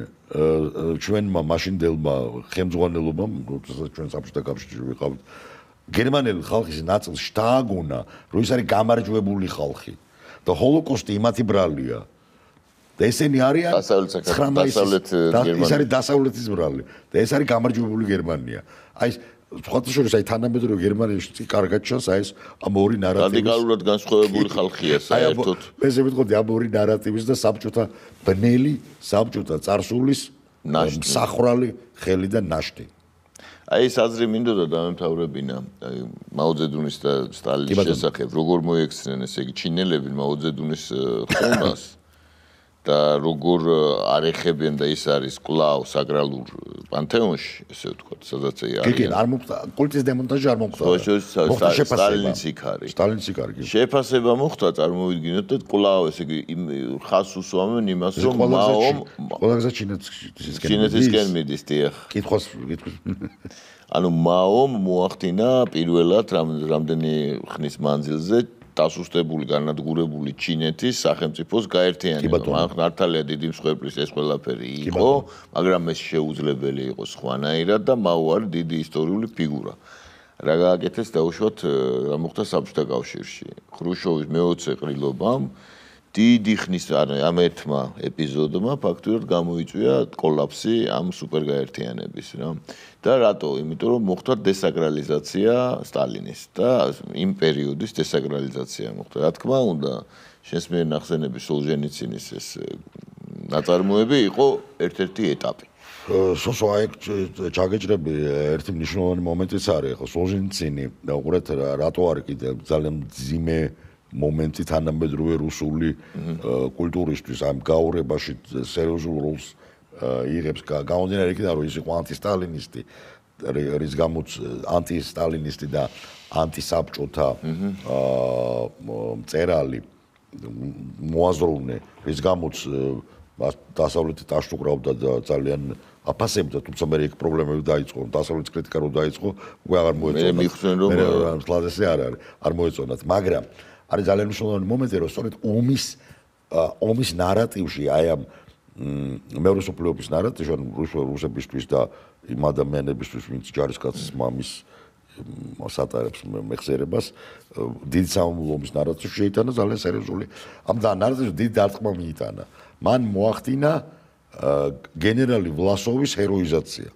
ჩვენმა მაშინდელმა ხელმძღვანელობამ, როდესაც ჩვენ საბჭოთა კავშირში ვიყავით გერმანელი ხალხის ნაწილს შთააგონა, რომ ის არის გამარჯვებული ხალხი და ჰოლოკოსტი იმათი ბრალია. და ესენი არიან დასავლეთ გერმანია. ეს არის დასავლეთის ბრალი და ეს არის გამარჯვებული გერმანია. აი სხვათა შორის აი თანამედროვე გერმანიაში კარგად ჩანს აი ეს ამ ორი ნარატივის რადიკალურად განსხვავებული ხალხია საერთოდ. ეს მეთქოდი ამ ორი ნარატივის და საბჭოთა ბნელი, საბჭოთა წარსულის მსახრალი ხელი და ნაშთი. აი ეს აზრი მინდოდა დამემთავრებინა აი მაოძედუნის და სტალინის შესახებ როგორ მოექცნენ ესე იგი ჩინელები მაოძედუნის ხმას და როგორ არ ეხებიან და ის არის კლავ საგრალურ პანთეონში ესე ვთქვათ სადაც არის კი კი არ მოხდა კულტის დემონტაჟი არ მოხდა მოხდა სტალინის იქ არის სტალინის იქ არის შეფასება მოხდა წარმოვიდგინოთ და კლავ ესე იგი ხაზს უსვამენ იმას რომ მაომ ყველაზე ჩინეთისკენ ჩინეთისკენ მიდის დიახ კითხავს კითხვის ანუ მაომ მოახდინა პირველად რამდენი ხნის მანძილზე დასუსტებული განადგურებული ჩინეთის სახელმწიფოს გაერთიანება. მან მართალია დიდი მსხვერპლის ეს ყველაფერი იყო, მაგრამ ეს შეუძლებელი იყო სხვანაირად და მაო არის დიდი ისტორიული ფიგურა. რა გააკეთეს დაუშვათ რა მოხდა საბჭოთა კავშირში. ხრუშჩოვის მეოცე ყრილობამ დიდი ხნის ამ ერთმა ეპიზოდმა ფაქტურად გამოიწვია კოლაფსი ამ სუპერგაერთიანების რა. და რატო? იმიტომ რომ მოხდა დესაკრალიზაცია სტალინის და იმ პერიოდის დესაკრალიზაცია მოხდა. რა თქმა უნდა, შენს მიერ ნახსენები სოლჟენიცინის ეს ნაწარმოები იყო ერთ-ერთი ეტაპი. სოსო აი ჩაგეჭრები ერთი მნიშვნელოვანი მომენტიც არის. ხო სოლჟენიცინი და უყურეთ რატო არის კიდე ძალიან ძიმე მომენტი თანამედროვე რუსული კულტურისთვის ამ გაურებაში სერიოზულ როლს იღებს გამომდინარე იქიდან რომ ის იყო ანტისტალინისტი რის გამოც ანტისტალინისტი და ანტისაბჭოთა მწერალი მოაზროვნე რის გამოც დასავლეთი დაშტუკრავდა და ძალიან აფასებდა თუმცა მე იქ პრობლემები დაიწყო დასავლეთის კრიტიკა რო დაიწყო უკვე აღარ მოეწონათ მე მიხსენ რომ სლაზესი არ არის არ მოეწონათ მაგრამ არის ძალიან მნიშვნელოვანი მომენტი რომ სწორედ ომის ომის ნარატივში აი ამ მეორე სოფლიო ომის ნარატივში რუსებისთვის და იმ ადამიანებისთვის ვინც ჯარისკაცის მამის სატარებს მეხსიერებას დიდი სამამულო ომის ნარატივში შეიტანა ძალიან სერიოზული ამ ნარატივში დიდი დარტყმა მიიტანა მან მოახდინა გენერალი ვლასოვის ჰეროიზაცია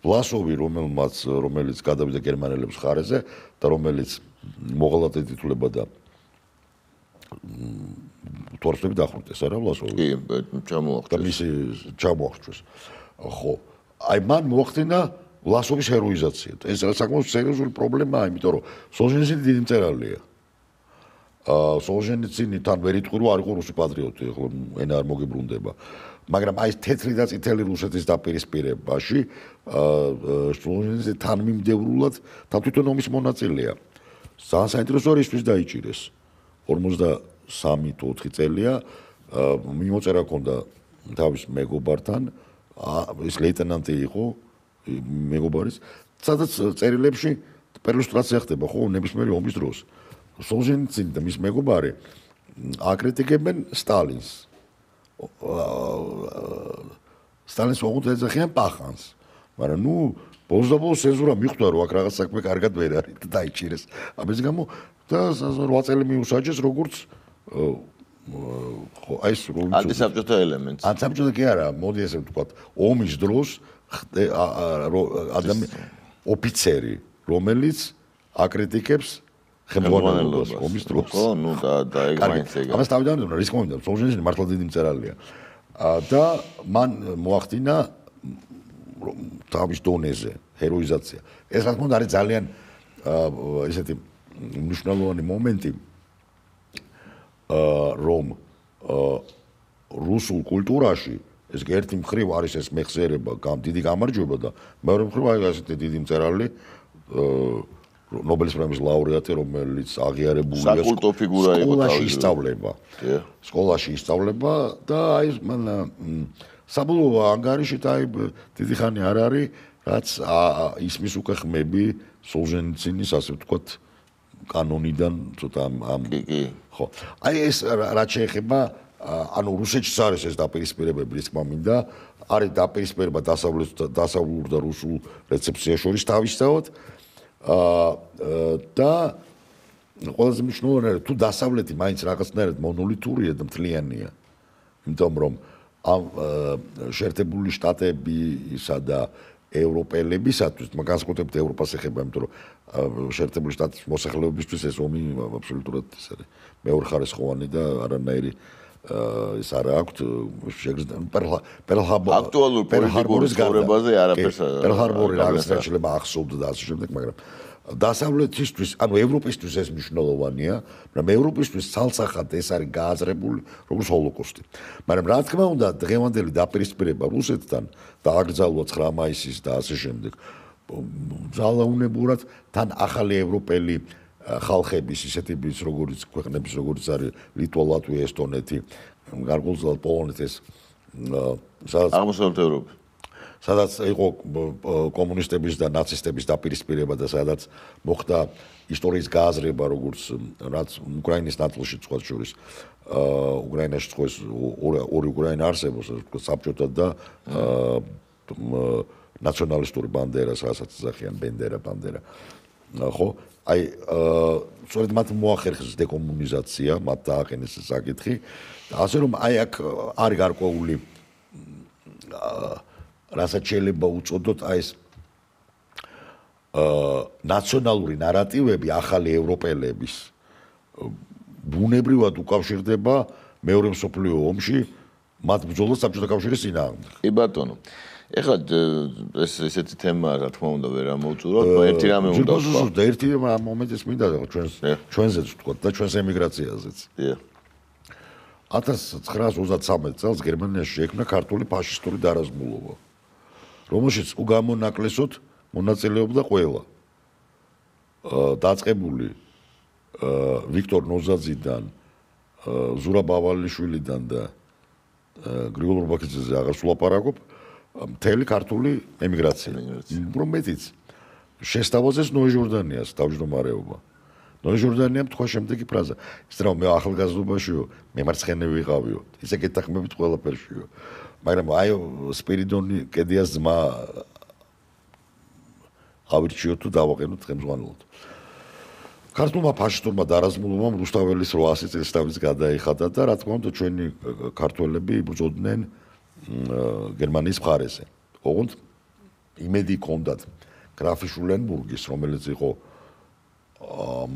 ვლასოვი რომელმაც რომელიც გადავიდა გერმანელების მხარეზე და რომელიც მოღალატედ ითვლება და თორსები დახვრიტეს არა ვლასოვი კი ჩამოახტეს და მისი ჩამოახტეს ხო აი მან მოახდინა ვლასოვის ჰეროიზაცია ეს საკმაოდ სერიოზული პრობლემაა იმიტომ რომ სოლჟენიცინი დიდი მწერალია აა სოლჟენიცინი თან ვერ იტყვი რომ არ იყო რუსი პატრიოტი ხო ენა არ მოგიბრუნდება მაგრამ აი ეს თეთრი და წითელი რუსეთის დაპირისპირებაში აა სოლჟენიცინი თან მიმდევრულად თან თვითონ ომის მონაწილეა ძალიან საინტერესო არის ისთვის დაიჭირეს ორმოცდასამი თუ ოთხი წელია მიმოწერა ჰქონდა თავის მეგობართან ის ლეიტენანტი იყო მეგობარის სადაც წერილებში პერილუსტრაცია ხდება ხო ნებისმიერი ომის დროს. სოლჟენიცინი და მის მეგობარი აკრიტიკებენ სტალინს. სტალინს უღუნთ ეძახიან პახანს. მაგრამ ნუ ბოლოს და ბოლოს ცენზურა მიხვდა რომ აქ რაღაც საქმე კარგად ვერ არის და დაიჭირეს. ამის გამო და რვა წელი მიუსაჯეს როგორც ხო აი ეს რომ ანტისაბჭოთა ელემენტს. ანტისაბჭოთა კი არა, მოდი ესე ვთქვათ, ომის დროს ადამიანი ოფიცერი, რომელიც აკრიტიკებს ხელმძღვანელობას ომის დროს. ხო, ნუ და და ეგ მაინც ეგ. ამას თავიდან უნდა რის მომენტ სოლჟენიცინი მართლა დიდი მწერალია. და მან მოახდინა თავის დონეზე ჰეროიზაცია. ეს რა თქმა უნდა არის ძალიან ესეთი მნიშვნელოვანი მომენტი რომ რუსულ კულტურაში ეს ერთი მხრივ არის ეს მეხსიერება, დიდი გამარჯვება და მეორე მხრივ არის ესეთი დიდი მწერალი ნობელის პრემიის ლაურეატი, რომელიც აღიარებულია საკულტო ფიგურა იყო სკოლაში ისწავლება. სკოლაში ისწავლება და აი მან საბოლოო ანგარიშით აი დიდი ხანი არ არის, რაც ისმის უკვე ხმები სოლჟენიცინის ასე ვთქვათ კანონიდან ცოტა ამ ხო. აი ეს რაც შეეხება ანუ რუსეთშიც არის ეს დაპირისპირებები, რის თქმა მინდა, არის დაპირისპირება დასავლურ და რუსულ რეცეპციას შორის თავისთავად. და ყველაზე მნიშვნელოვანია თუ დასავლეთი მაინც რაღაცნაირად მონოლითურია და მთლიანია. იმიტომ რომ ამ შეერთებული შტატებისა და ევროპელებისათვის, განსაკუთრებით ევროპას ეხება, იმიტომ რომ შეერთებული შტატების მოსახლეობისთვის ეს ომი აბსოლუტურად ეს არის მეორეხარისხოვანი და არანაირი ეს არა აქვთ პერლ-ჰარბორი აქტუალურ პოლიტიკურ ცხოვრებაზე არაფერს პერლ-ჰარბორი რაღაცა შეიძლება ახსოვდა და ასე შემდეგ, მაგრამ დასავლეთისთვის, ანუ ევროპისთვის ეს მნიშვნელოვანია, მაგრამ ევროპისთვის ცალსახად ეს არის გააზრებული როგორც ჰოლოკოსტი. მაგრამ რა თქმა უნდა, დღევანდელი დაპირისპირება რუსეთთან და აკრძალვა ცხრა მაისის და ასე შემდეგ ძალაუნებურად თან ახალი ევროპელი ხალხების ისეთების როგორც ქვეყნების როგორც არის ლიტვა, ლატვია, ესტონეთი, გარკვეულწილად პოლონეთი ეს სადაც აღმოსავლეთ ევროპა სადაც იყო კომუნისტების და ნაცისტების დაპირისპირება და სადაც მოხდა ისტორიის გააზრება როგორც რაც უკრაინის ნაწილში სხვა შორის უკრაინაში სხვა ორი უკრაინა არსებობს საბჭოთა და ნაციონალისტური ბანდერას რასაც ეძახიან ბენდერა ბანდერა ხო აი სწორედ მათ მოახერხეს დეკომუნიზაცია, მათ დააყენეს საკითხი. ასე რომ აი აქ არის გარკვეული რასაც შეიძლება უწოდოთ აი ეს ნაციონალური ნარატივები ახალი ევროპელების ბუნებრივად უკავშირდება მეორე მსოფლიო ომში მათ ბრძოლას საბჭოთა კავშირის წინააღმდეგ. კი ბატონო. ეხლა ეს ესეთი თემა რა თქმა უნდა ვერ ამოვწუროთ, ერთი რამე უნდა ვთქვა. და ერთი მომენტიც მინდა ჩვენს ჩვენზეც ვთქვა და ჩვენს ემიგრაციაზეც. დიახ. ათას ცხრაას ოცდათსამეტ წელს გერმანიაში შეიქმნა ქართული ფაშისტური დარაზმულობა, რომელშიც უგამონაკლისოდ მონაწილეობდა ყველა. დაწყებული ვიქტორ ნოზაძიდან, ზურაბ ავალიშვილიდან და გრიგოლ რობაქიძეზე აღარ სულაპარაკობ. მთელი ქართული ემიგრაცია. უფრო მეტიც შესთავაზეს ნოე ჟორდანიას თავმჯდომარეობა. ნოე ჟორდანიამ თქვა შემდეგი ფრაზა: "ის რა მე ახალგაზრდობაშიო, მემარცხენე ვიყავიო, ისე გეთახმებით ყველაფერშიო." მაგრამ აი სპირიდონი კედიას ძმა ავირჩიოთ თუ დავაყენოთ ხელმძღვანელად. ქართულმა ფაშისტურმა დარაზმულობამ რუსთაველის რვაასი წელიწადს გადაიხადა და რა თქმა უნდა ჩვენი ქართველები იბრძოდნენ გერმანიის მხარეზე. ოღონდ იმედი ჰქონდათ გრაფი შულენბურგის, რომელიც იყო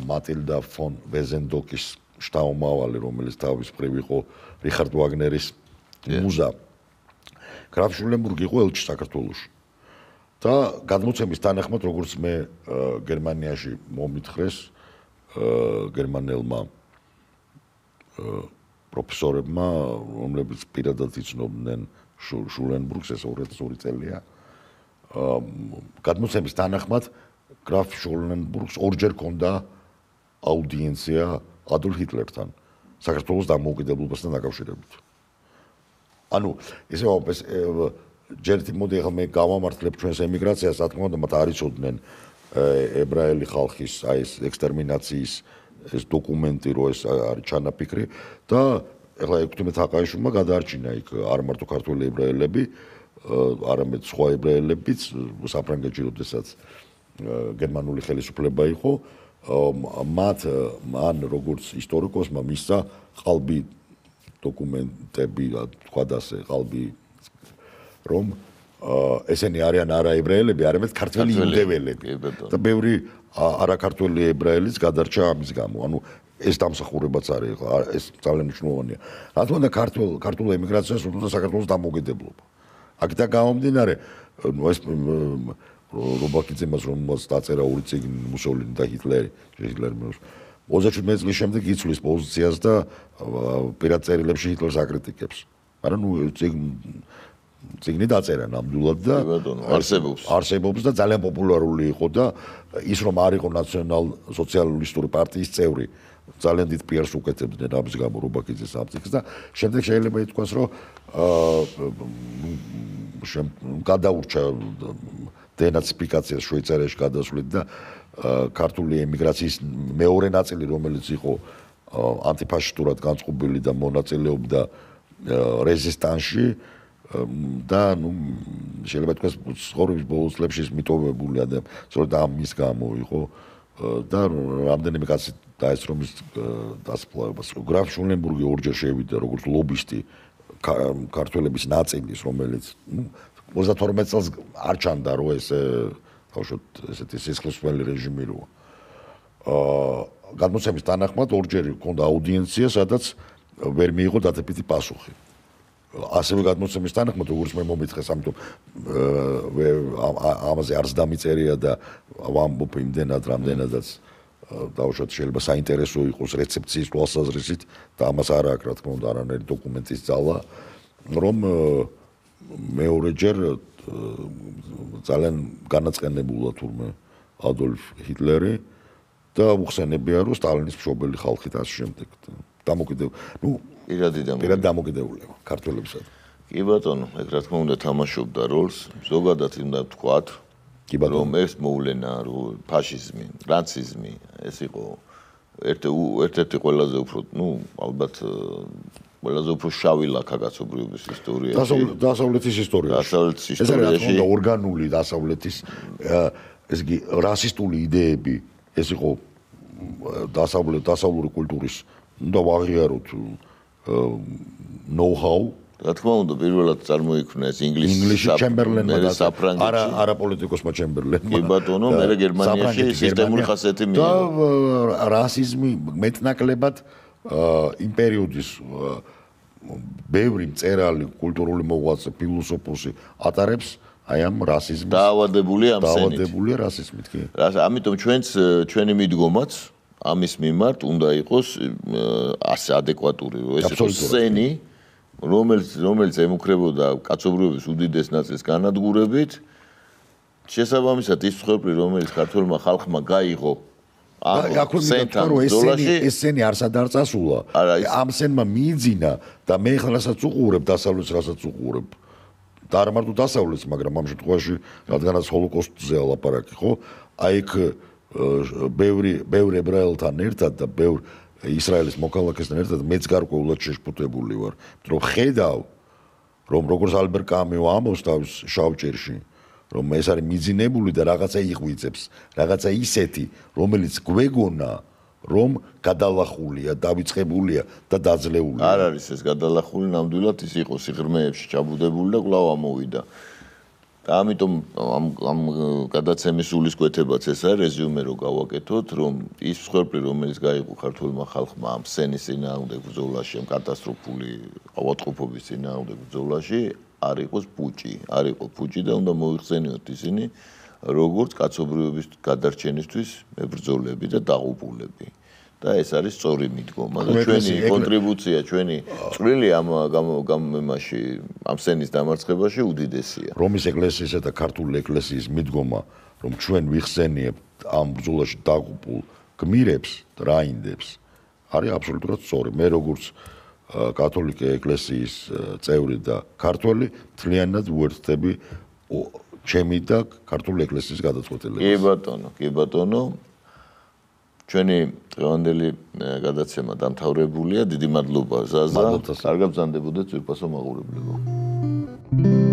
მატილდა ფონ ვეზენდოკის შტაუმავალი, რომელიც თავის მხრივ იყო რიხარდ ვაგნერის მუზა. გრაფი შულენბურგი იყო ელჩი საქართველოში. და გადმოცემის თანახმად, როგორც მე გერმანიაში მომითხრეს გერმანელმა პროფესორებმა, რომლებიც პირადად იცნობდნენ შულენბურგს, ეს ორი წელია. გადმოცემის თანახმად, გრაფ შულენბურგს ორჯერ ჰქონდა აუდიენცია ადოლფ ჰიტლერთან, საქართველოს დამოუკიდებლობასთან დაკავშირებით. ანუ, ესე ვამბობ, ეს ჯერტი მოდი ახლა მე გავამართლებ ჩვენს ემიგრაციას, რა თქმა უნდა, მათ არ იცოდნენ ებრაელი ხალხის აი ეს ექსტერმინაციის ეს დოკუმენტი, რო ეს არის ჩანაფიქრი და ახლა ექვთიმე თაყაიშვილმა გადაარჩინა იქ არ მარტო ქართველი ებრაელები, არამედ სხვა ებრაელებიც საფრანგეთში როდესაც გერმანული ხელისუფლება იყო, მათ მან როგორც ისტორიკოსმა მისცა ყალბი დოკუმენტები, თქვა და ასე ყალბი რომ ესენი არიან არა ებრაელები, არამედ ქართველი იუდეველები და ბევრი არაქართველი ებრაელიც გადარჩა ამის გამო. ანუ ეს დამსახურებაც არის, ეს ძალიან მნიშვნელოვანია. რა თქმა უნდა, ქართულ ქართულ ემიგრაციას უთუნდა საქართველოს დამოუკიდებლობა. აქედან გამომდინარე, ეს რობაქიძემას რომელსაც დაწერა ორი წიგნი მუსოლინი და ჰიტლერი, ჰიტლერი ოცდაშვიდმეტი წლის შემდეგ იცვლის პოზიციას და პირად წერილებში ჰიტლერს აკრიტიკებს. მაგრამ ნუ წიგნი დაწერა ნამდვილად და არსებობს. არსებობს და ძალიან პოპულარული იყო და ის რომ არ იყო ნაციონალ-სოციალისტური პარტიის წევრი, ძალიან დიდ პიარს უკეთებდნენ ამის გამო რობაქიძეს ამ წიგნს და შემდეგ შეიძლება ითქვას, რომ გადაურჩა დენაციფიკაციას შვეიცარიაში გადასვლით და ქართული ემიგრაციის მეორე ნაწილი, რომელიც იყო ანტიფაშისტურად განწყობილი და მონაწილეობდა რეზისტანსში და ნუ შეიძლება თქვას ცხოვრების ბოლო წლებში ის მიტოვებული და სწორედ ამის გამო იყო და რამდენიმე კაცი დაესწრო მის დასაფლავებას. გრაფ შულენბურგი ორჯერ შევიდა როგორც ლობისტი ქართველების ნაწილის, რომელიც ოცდათორმეტ წელს არ ჩანდა, რომ ეს თავშოთ ესეთი სისხლისმღერელი რეჟიმი როა. აა გადმოცემის თანახმად ორჯერ ჰქონდა აუდიენცია, სადაც ვერ მიიღო დადებითი პასუხი. ასევე გადმოცემის თანახმად, როგორც მე მომიწყეს, ამიტომ ამაზე არც დამიწერია და ვამბობ იმდენად, რამდენადაც დავუშვათ შეიძლება საინტერესო იყოს რეცეპციის თვალსაზრისით და ამას არ აქვს, რა თქმა უნდა, არანაირი დოკუმენტის ძალა, რომ მეორეჯერ ძალიან განაწყენებულა თურმე ადოლფ ჰიტლერი და უხსენებია, რომ სტალინის მშობელი ხალხით ასე შემდეგ. დამოკიდებული, ნუ პირადი დამოკიდებულება ქართველებსა. კი ბატონო, ეგ რა თქმა უნდა თამაშობდა როლს, ზოგადად უნდა ვთქვათ, რომ ეს მოვლენა, რომ ფაშიზმი, ნაციზმი, ეს იყო ერთ-ერთი ყველაზე უფრო, ნუ ალბათ ყველაზე უფრო შავი ლაქა კაცობრიობის ისტორიაში. დასავლეთის ისტორიაში. დასავლეთის ისტორიაში. ეს რა თქმა უნდა ორგანული დასავლეთის ეს იგი რასისტული იდეები, ეს იყო დასავლეთ დასავლური კულტურის უნდა ვაღიაროთ know-how. რა თქმა უნდა, პირველად წარმოიქმნა ეს ინგლისში ჩემბერლენმა და საფრანგეთში. არა არა პოლიტიკოსმა ჩემბერლენმა. კი ბატონო, მე გერმანიაში სისტემური ხასიათი მიიღო. და რასიზმი მეტნაკლებად იმ პერიოდის ბევრი მწერალი, კულტურული მოღვაწე, ფილოსოფოსი ატარებს აი ამ რასიზმს. დაავადებულია ამ სენით. დაავადებულია რასიზმით, კი. ამიტომ ჩვენც ჩვენი მიდგომაც ამის მიმართ უნდა იყოს ასე ადეკვატური, რომ ეს იყოს სენი, რომელიც რომელიც ემუქრებოდა კაცობრიობის უდიდეს ნაწილს განადგურებით, შესაბამისად ის მსხვერპლი, რომელიც ქართულმა ხალხმა გაიღო აქ სენთან ბრძოლაში, ეს სენი არსად არ წასულა. ამ სენმა მიიძინა და მე ხალასაც უყურებ დასავლეთს, რასაც უყურებ. და არ მარტო დასავლეთს, მაგრამ ამ შემთხვევაში, რადგანაც ჰოლოკოსტზე ალაპარაკი, ხო? აი იქ ბევრი ბევრი ებრაელთან ერთად და ბევრ ისრაელის მოქალაქესთან ერთად მეც გარკვეულად შეშფოთებული ვარ, რომ ხედავ, რომ როგორც ალბერ კამიო ამბობს თავის შავჭერში, რომ ეს არის მიძინებული და რაღაცა იღვიძებს, რაღაცა ისეთი, რომელიც გვეგონა, რომ გადალახულია, დავიწყებულია და დაძლეულია. არ არის ეს გადალახული, ნამდვილად ის იყო სიღრმეებში ჩაბუდებული და კვლავ ამოვიდა. და ამიტომ ამ ამ გადაცემის სულისკვეთებაც ეს არის რეზიუმე რო გავაკეთოთ, რომ ის მსხვერპლი, რომელიც გაიყო ქართულმა ხალხმა ამ სენის წინააღმდეგ ბრძოლაში, ამ კატასტროფული ავადმყოფობის წინააღმდეგ ბრძოლაში, არ იყოს პუჭი, არ იყო პუჭი და უნდა მოიხსენიოთ ისინი, როგორც კაცობრიობის გადარჩენისთვის მებრძოლები და დაღუპულები. და ეს არის სწორი მიდგომა და ჩვენი კონტრიბუცია, ჩვენი წვლილი ამ გამომაში, ამ სენის დამარცხებაში უდიდესია. რომის ეკლესიისა და ქართული ეკლესიის მიდგომა, რომ ჩვენ ვიხსენიებთ ამ ბრძოლაში დაღუპულ გმირებს, რაინდებს, არის აბსოლუტურად სწორი. მე როგორც კათოლიკე ეკლესიის წევრი და ქართველი მთლიანად უერთდები ჩემი და ქართული ეკლესიის გადაწყვეტილებას. კი ბატონო, კი ბატონო. ჩვენი დღევანდელი გადაცემა დამთავრებულია. დიდი მადლობა ზაზა. კარგად ბრძანდებოდეთ ძვირფასო მაყურებლებო.